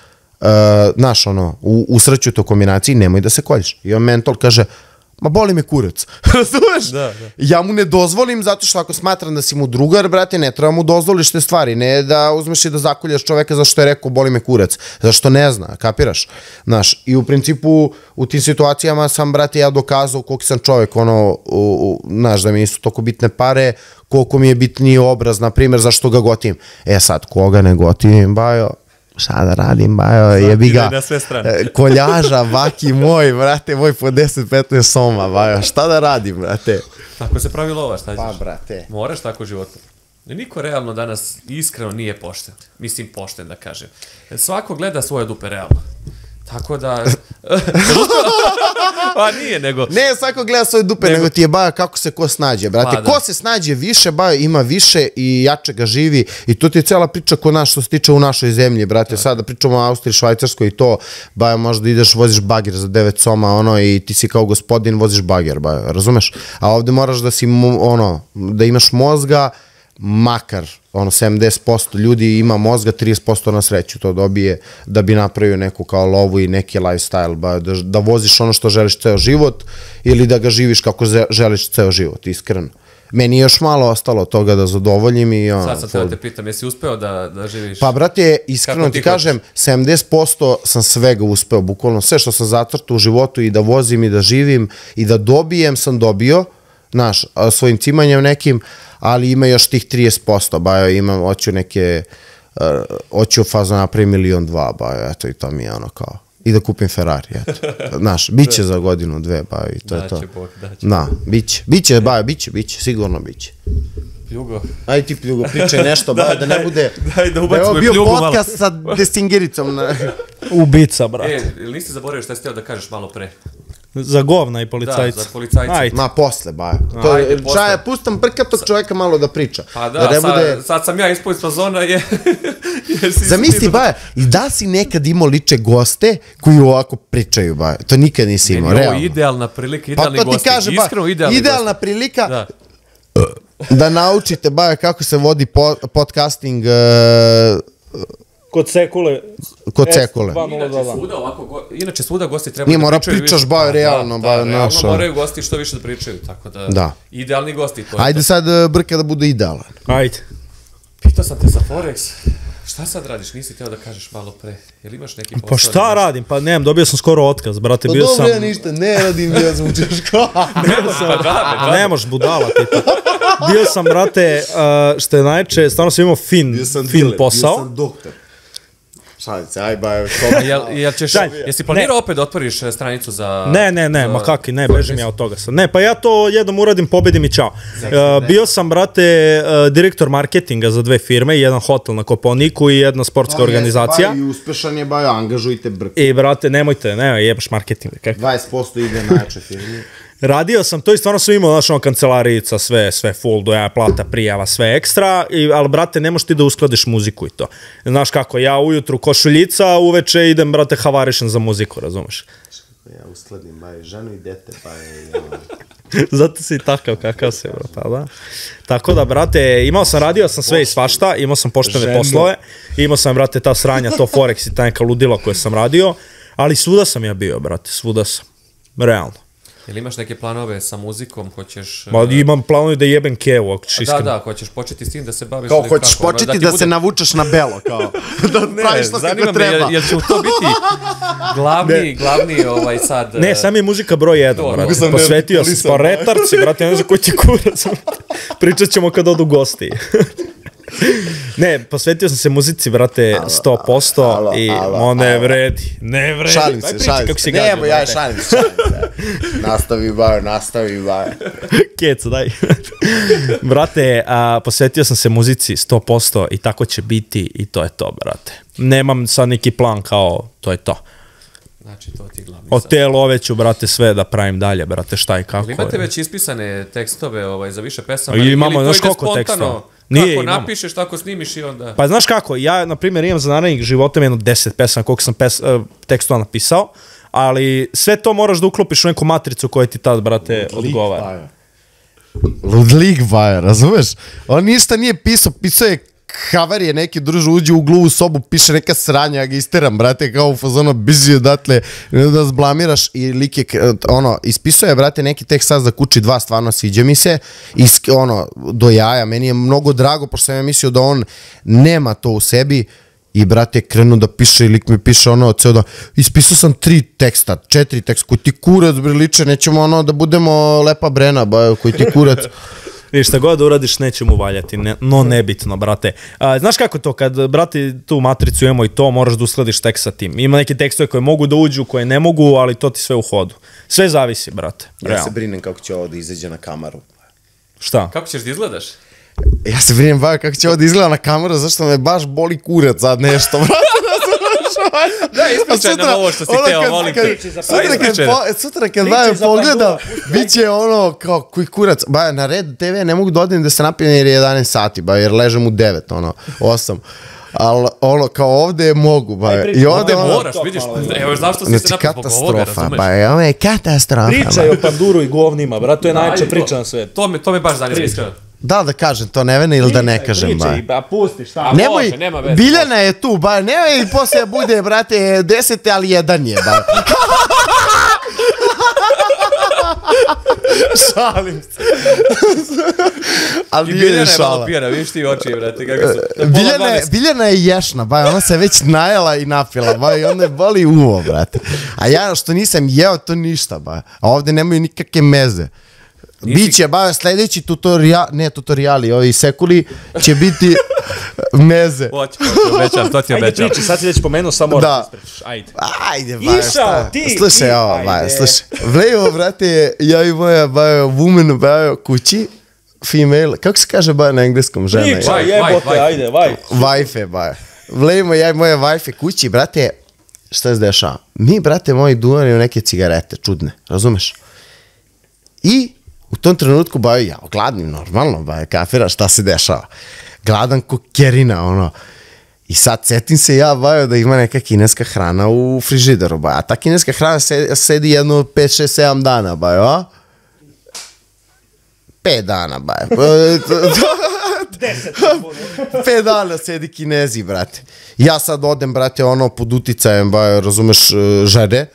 znaš, u srću to kombinaciji, nemoj da se kolješ. I on mentor kaže, ma boli me kurac, razumeš? Ja mu ne dozvolim zato što ako smatram da si mu drugar, brate, ne treba mu dozvoliš te stvari, ne da uzmeš i da zakoljaš čoveka zašto je rekao boli me kurac, zašto ne zna, kapiraš? Znaš, i u principu u tim situacijama sam, brate, ja dokazao koliko sam čovek, znaš, da mi nisu toliko bitne pare, koliko mi je bitniji obraz, na primjer, zašto ga gotim. Sad, koga ne gotim, Bajo? Šta da radim, Bajo, jebi ga, koljaža, vaki moj, brate, moj po 10-15 soma, Bajo, šta da radim, brate? Tako se pravi lova, šta ćeš? Pa, brate. Moraš tako u životu. Niko realno danas iskreno nije pošten, mislim pošten da kažem. Svako gleda svoje dupe realno. Tako da... Pa nije, nego... Ne, svako gleda svoje dupe, nego ti je, Bajo, kako se ko snađe, brate. Ko se snađe više, Bajo, ima više i jače ga živi i to ti je cela priča ko naš, što se tiče u našoj zemlji, brate. Sada pričamo o Austriji, Švajcarskoj i to, Bajo, možda ideš, voziš bager za 9 soma, i ti si kao gospodin, voziš bager, Bajo, razumeš? A ovde moraš da si, da imaš mozga, makar, 70% ljudi ima mozga, 30% na sreću to dobije da bi napravio neku kao lovu i neki lifestyle, da voziš ono što želiš ceo život ili da ga živiš kako želiš ceo život, iskreno. Meni je još malo ostalo toga da zadovoljim i Sad sam te da te pitam, jesi uspeo da živiš? Pa, brate, iskreno ti kažem, 70% sam svega uspeo, bukvalno sve što sam zacrtao u životu i da vozim i da živim i da dobijem sam dobio, znaš, svojim cimanjem nekim, ali ima još tih 30%, Bajo, imam, hoću u fazu napravim 1,2 miliona, Bajo, eto, i to mi je kao, i da kupim Ferrari, eto, znaš, bit će za godinu, dve, Bajo, i to je to. Daće Bog, daće. Da, bit će, Bajo, bit će, sigurno bit će. Pljugo. Ajde ti, Pljugo, pričaj nešto, Bajo, da ne bude, da ubacimo i Pljugu malo. Bio podcast sa Desingericom. Ubica, brate. Ili nisi zaboravio šta si htio da kažeš malo pre? Za govna i policajca. Da, za policajca. Ajde. Ma, posle, baja. To je, Ajde, posle. pustam brkatog čoveka malo da priča. Pa da, sad sam ja ispod fazona Zamisli, baja, i da si nekad imao liče goste koji ovako pričaju, baja. To nikad nisi imao, realno. Ovo je idealna prilika, idealni gosti. Pa to ti kažem, baja, idealna prilika da naučite, baja, kako se vodi podcasting Kod Sekule. Kod Sekule. Inače svuda gosti treba da pričaju. Nije mora pričaš, baja, realno, baja, realno moraju gosti što više da pričaju, tako da, idealni gosti. Ajde sad Brka da bude idealan. Ajde. Pitao sam te za Forex, šta sad radiš, nisi teo da kažeš malo pre, jel imaš neki posao? Pa šta radim, pa nemam, dobio sam skoro otkaz, brate, bio sam... Pa dobro, ja ništa, ne radim, ja sam u Češko. Ne možeš budala, tipa. Bio sam, brate, što je najče, stvarno sam imao fin posao. Bio sam doktor. Šalim se, aj ba, jesi planirao opet da otvoriš stranicu za... Ne, ma kaki, ne, bežim ja od toga sad. Ne, pa ja to jednom uradim, pobedim i čao. Bio sam, brate, direktor marketinga za 2 firme, jedan hotel na Kopaoniku i jedna sportska organizacija. I uspešan je, ba, angažujte Brku. I, brate, nemojte, jebaš marketing. 20% ide najjače firme. Radio sam to i stvarno sam imao, znaš, kancelarijica, sve full, doja, plata, prijava, sve ekstra, ali, brate, ne možeš ti da uskladiš muziku i to. Znaš kako, ja ujutru košuljica, a uveče idem, brate, havarišem za muziku, razumeš? Ja uskladim, baj, ženu i dete, pa Zato si takav kakav si, bro, pa da. Tako da, brate, radio sam sve i svašta, imao sam poštene poslove, imao sam, brate, ta sranja, to Forex i ta neka ludila koje sam radio, ali svuda sam ja bio, brate, svuda sam, realno. Jel imaš neke planove sa muzikom, hoćeš... Ma imam planove da jebem Kevu, ako ćeš iskreno. Da, hoćeš početi s tim da se baviš... Kao hoćeš početi da se navučeš na belo, kao da praviš što kako treba. Jel će u to biti glavni sad... Ne, sam je muzika broj 1, brate. Posvetio sam pa retarci, brate, ne znam koji ti kurac. Pričat ćemo kad odu gosti. Ne, posvetio sam se muzici, brate, 100% i ne vredi. Ne vredi. Šalim se. Nemo, ja šalim se. Nastavi, bajo. Keco, daj. Brate, posvetio sam se muzici 100% i tako će biti i to je to, brate. Nemam sad neki plan kao, to je to. Znači, to ti glavni. Od te love ću, brate, sve da pravim dalje, brate, šta i kako. Imate već ispisane tekstove za više pesama? Imamo, znaš koliko tekstova? Kako napišeš, tako snimiš i onda... Pa znaš kako, ja, na primjer, imam za narednih života jedno 10 pesama koliko sam tekstova napisao, ali sve to moraš da uklopiš u neku matricu koja ti tad, brate, odgovara. Ludlik, baja, razumeš? On ništa nije pisao je havarije neki, druže, uđe u gluvu sobu, piše neka sranja, ja ga isteram, brate, kao u fazonu, bizi odatle, da zblamiraš i lik je, ispisao je, brate, neki tekst sad za kući 2, stvarno sviđa mi se, do jaja, meni je mnogo drago, pošto sam ja mislio da on nema to u sebi, i, brate, krenu da piše i lik mi piše ceo da, ispisao sam 4 teksta, koji ti kurac, briliče, nećemo da budemo lepa Brena, koji ti kurac. Viš, šta god da uradiš, neće mu valjati, no nebitno, brate. Znaš kako to, kad, brate, tu matricu imamo i to, moraš da uskladiš tekst sa tim. Ima neki tekstove koje mogu da uđu, koje ne mogu, ali to ti sve u hodu. Sve zavisi, brate. Ja se brinem kako će ovo da izađe na kameru. Šta? Kako ćeš da izgledaš? Ja se brinem kako će ovo da izgleda na kameru, zašto me baš boli kurac sad nešto, brate. Da, ispričaj nam ovo što si teo, molim te. Sutra kad Bajo pogledam, bit će kao koji kurac. Bajo, na Red TV ne mogu da odim da se napijem jer je 11 sati, Bajo, jer ležem u 9, 8. Ali kao ovde mogu, Bajo. I ovde moraš, vidiš, evo zašto si se napio zbog ovoga, razumeš? Bajo, ovo je katastrofa. Pričaj o panduru i govnima, brat, to je najčešća priča na svetu. To me baš zanima, iskreno. Da kažem to, Nevene, ili da ne kažem, ba. Pričaj, pusti, šta? Nemoj, Biljana je tu, ba, nemoj poslije bude, brate, 10, ali 1 je, ba. Šalim se. Ali Biljana je malo pijana, vidiš ti oči, brate, kako su. Biljana je ješna, ba, ona se već najela i napila, ba, i onda je boli uvo, brate. A ja što nisam jeo, to ništa, ba. A ovde nemaju nikakve meze. Biće, ba, sledeći tutoriali, ovi sekuli, će biti meze. Hoće, to ti obećam. Ajde priči, sad si već pomenuo, samo moraš da ispričaš, ajde. Ajde, ba, šta? Slušaj, ovo, ba, slušaj. Vlejo, brate, ja i moja, ba, woman, ba, kući, female, kako se kaže, ba, na engleskom, žena? Pričaj, jebote, ajde, wife. Wife, ba. Vlejmo, ja i moja wife kući, brate, šta se dešava? Mi, brate moji, duvanimo neke cigarete, čudne, razumeš? I u tom trenutku, bajo, ja, gladnim, normalno, bajo, kafira, šta se dešava? Gladan ko kerina, ono. I sad setim se ja, bajo, da ima neka kineska hrana u frižideru, bajo. A ta kineska hrana sedi jedno 5, 6, 7 dana, bajo, a? 5 dana, bajo. 5 dana sedi Kinezi, brate. Ja sad odem, brate, ono, pod uticajem, bajo, razumeš, žene.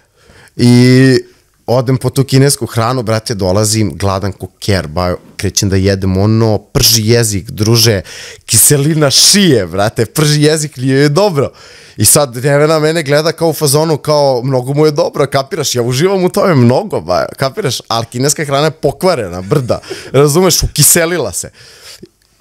I odem po tu kinesku hranu, brate, dolazim, gladan ko ker, bajo, krećem da jedem ono, prži jezik, druže, kiselina šije, brate, prži jezik, nije je dobro. I sad Nevena mene gleda kao u fazonu, kao, mnogo mu je dobro, kapiraš, ja uživam u tome mnogo, bajo, kapiraš, ali kineska hrana je pokvarena, brda, razumeš, ukiselila se.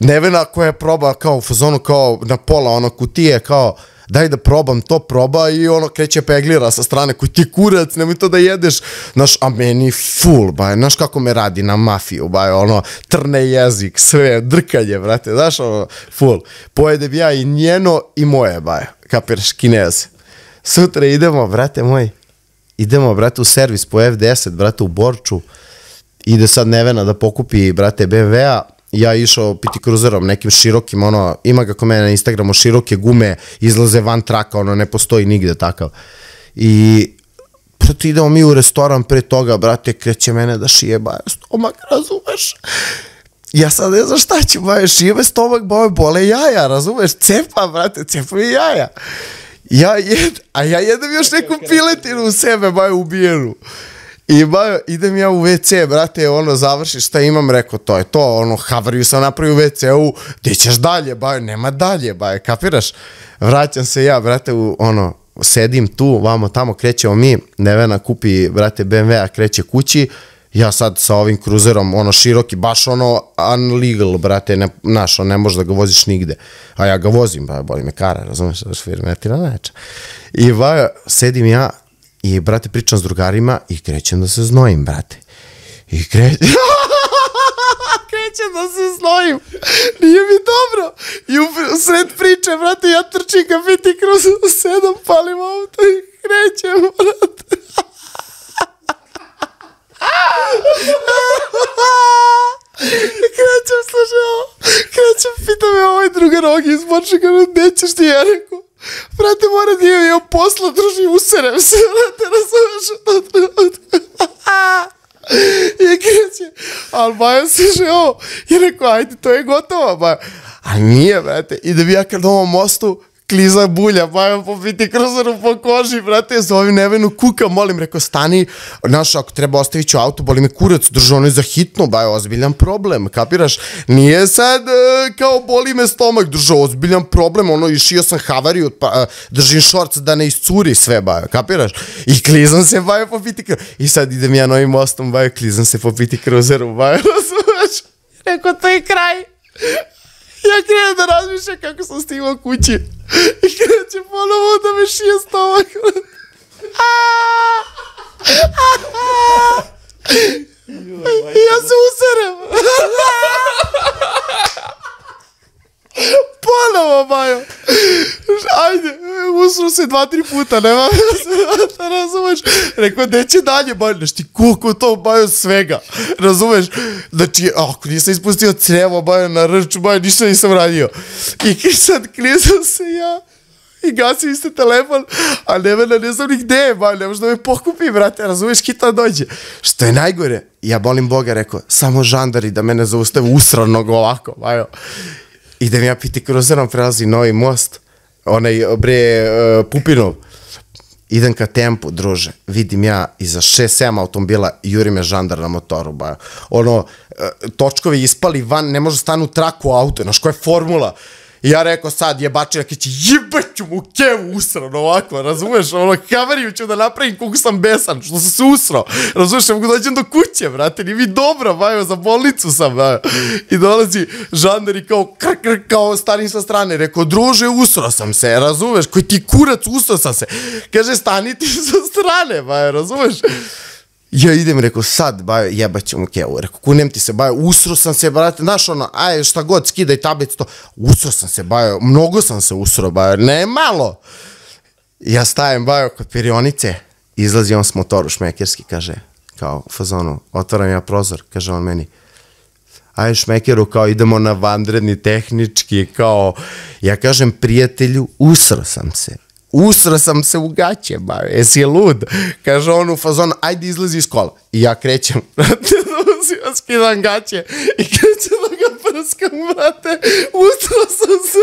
Nevena koja je proba kao u fazonu, kao na pola, ono, kutije, kao, daj da probam to, proba i ono kreće peglira sa strane, koji ti kurac, nemoj to da jedeš, znaš, a meni full, baj, znaš kako me radi na mafiju, baj, ono, trne jezik, sve, drkanje, brate, znaš, ono, full, pojedem ja i njeno i moje, baj, kapiraš, Kineze. Sutra idemo, brate moj, u servis po F10, brate, u Borču, ide sad Nevena da pokupi, brate, BMW-a, ja išao piti kruzerom, nekim širokim, ono, ima ga kod mene na Instagramu, široke gume, izlaze van traka, ono, ne postoji nigde takav. I, brate, idemo mi u restoran pre toga, brate, kreće mene da šije, baje, stomak, razumeš? Ja sad ne znam šta ću, baje, šije me stomak, baje, bole jaja, razumeš? Cepa, brate, cepa mi jaja. A ja jedem još neku piletinu u sebe, baje, ubijenu. I bajo, idem ja u WC, brate, ono, završi šta imam, rekao, to je to, ono, havariju sam napravio u WC-u, gdje ćeš dalje, bajo, nema dalje, bajo, kapiraš? Vraćam se ja, brate, ono, sedim tu, vamo tamo, krećemo mi, Nevena kupi, brate, BMW-a, kreće kući, ja sad sa ovim kruzerom, ono, široki, baš ono, unlegal, brate, znaš, ne možeš da ga voziš nigde, a ja ga vozim, bajo, boli me kara, razumeš, da švirmetira neča. I bajo, sedim ja, i, brate, pričam s drugarima i krećem da se znojim, brate. I krećem da se znojim. Nije mi dobro. I u sred priče, brate, ja trčim ka piti kroz 7, palim auto i krećem, brate. Krećem, pita me ovaj drugar Ogi iz Borčaka, nećeš ti, ja rekao, brate, mora da imam posla, druži, userem se, brate, razumeš u tom trenutku. I kreće, ali bajo se že ovo, i rekao, ajde, to je gotovo, bajo. A nije, brate, idem ja kad ovom mostu, kliza bulja, bajo popiti kruzeru po koži, brate, zovem Nevenu, kuka, molim, rekao, stani, znaš, ako treba ostavit ću auto, boli me kurac, držao ono je za hitno, bajo, ozbiljan problem, kapiraš, nije sad kao boli me stomak, držao ozbiljan problem, ono, išio sam havariju, držim šorc da ne iscuri sve, bajo, kapiraš, i klizam se, bajo, popiti kruzeru, i sad idem ja novim mostom, bajo, klizam se popiti kruzeru, bajo, razumeš, rekao, to je kraj. Ja krenem da razmišljam kako sam stigla kući i krećem ponovo da me šije stomak. I ja se userem. Ponovo, bajo. Ajde, usro se 2-3 puta, nema da razumeš. Rekao, neće dalje, bajo, znaš ti koliko to, bajo, svega, razumeš. Znači, ako nisam ispustio crevo, bajo, na rču, bajo, ništa nisam radio. I sad klizam se ja i gasim isto telefon, a Nevena ne znam ni gde je, bajo, ne možda me pokupi, brate, razumeš, kita dođe. Što je najgore, ja molim Boga, rekao, samo žandari da mene zaustave usranog ovako, bajo. Idem ja piti kruzerom, prelazi Novi most, onaj, bre, Pupinov. Idem ka Tempu, druže, vidim ja iza 6-7 automobila juri me žandar na motoru, bajo. Ono, točkovi ispali van, ne može stanu u traku auto, znaš koja je formula. I ja rekao sad jebačina će jebaću mu kevu usrano ovako, razumeš, ono, kameriju ću da napravim koliko sam besan, što sam se usrao, razumeš, ne mogu dođem do kuće, brate, nije mi dobro, bajo, za bolnicu sam, bajo. I dolazi žandar i kao, kao stanim sa strane, rekao, druže, usrao sam se, razumeš, koji ti kurac, usrao sam se, kaže, stani ti sa strane, bajo, razumeš. Ja idem, rekao, sad, bajo, jebaću mu kevu, rekao, kunem ti se, bajo, usro sam se, brate, znaš ono, aj, šta god, skidaj tablicu, to, usro sam se, bajo, mnogo sam se usro, bajo, ne malo. Ja stajem, bajo, kod perionice, izlazi on s motoru šmekerski, kaže, kao u fazonu, otvaram ja prozor, kaže on meni, aj šmekeru, kao idemo na vanredni tehnički, kao, ja kažem prijatelju, usro sam se u gaće, bajo, jesi je lud? Kaže on u fazonu, ajde izlazi iz kola. I ja krećem, brate, ja skidam gaće i krećem da ga prskam, brate, usro sam se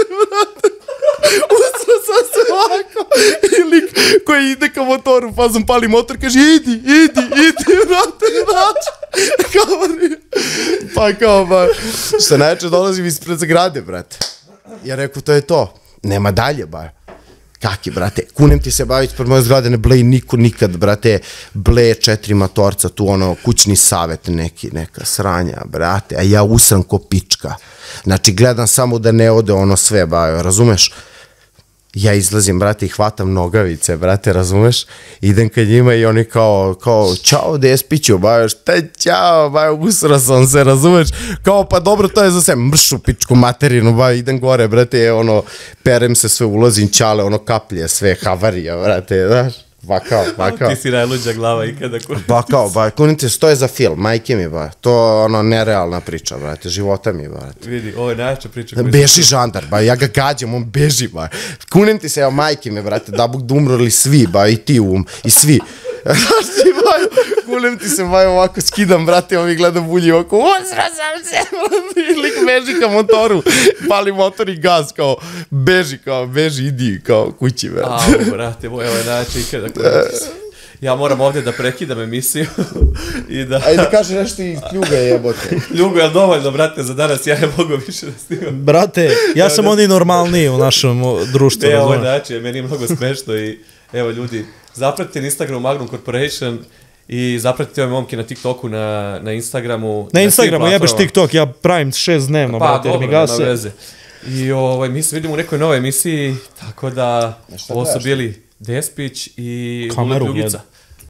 ovako. I lik koji ide ka motoru, fazom pali motor, kaže, idi, brate. Pa, što najče dolazim ispred zgrade, brate. Ja rekao, to je to. Nema dalje, bajo. Kaki, brate, kunem ti se baviti pred moje zgrade, ne bleji niko nikad, brate, bleje 4 motorca, tu ono, kućni savet neka sranja, brate, a ja usram ko pička. Znači, gledam samo da ne ode ono sve, bajo, razumeš? Ja izlazim, brate, i hvatam nogavice, brate, razumeš? Idem kad njima i oni kao, čao, despiću, bajo, šta je čao, bajo, usra sam se, razumeš? Kao, pa dobro, to je za sve, mršu pičku materinu, bajo, idem gore, brate, ono, perem se sve, ulazim čale, ono, kaplje, sve, havarija, brate, znaš? Bakao. Ti si najluđa glava ikada. Bakao, kunite, to je za film, majke mi, ba. To ono, nerealna priča, brate, života mi, brate. Vidi, ovo je najjača priča. Beži žandar, ba, ja ga gađam, on beži, ba. Kunim ti se, evo, majke mi, brate, da bog da umrli svi, ba, i ti i svi. Znaš ti, baju, kunem ti se, baju, ovako skidam, brate, ovi gledam bulji oko, usra sam se, brate, lik beži ka motoru, pali motor i gaz, kao, beži, idi, kao, kući, brate. Brate, evo je najjača ikada. Ja moram ovdje da prekidam emisiju i da... Ajde kaže nešto i kljuga jebote. Kljuga je dovoljno, brate, za danas ja ne mogu više da snimam. Brate, ja sam oni normalniji u našem društvu. Ovo je način, meni je mnogo smešno i evo ljudi, zapratite na Instagramu Magnum Corporation i zapratite ove momke na TikToku, na Instagramu. Na Instagramu jebeš TikTok, ja pravim 6 dnevno, brate, jer mi gase. Nema veze. I mi se vidimo u nekoj novoj emisiji, tako da ovo su bili Despić i Vule Pljugica.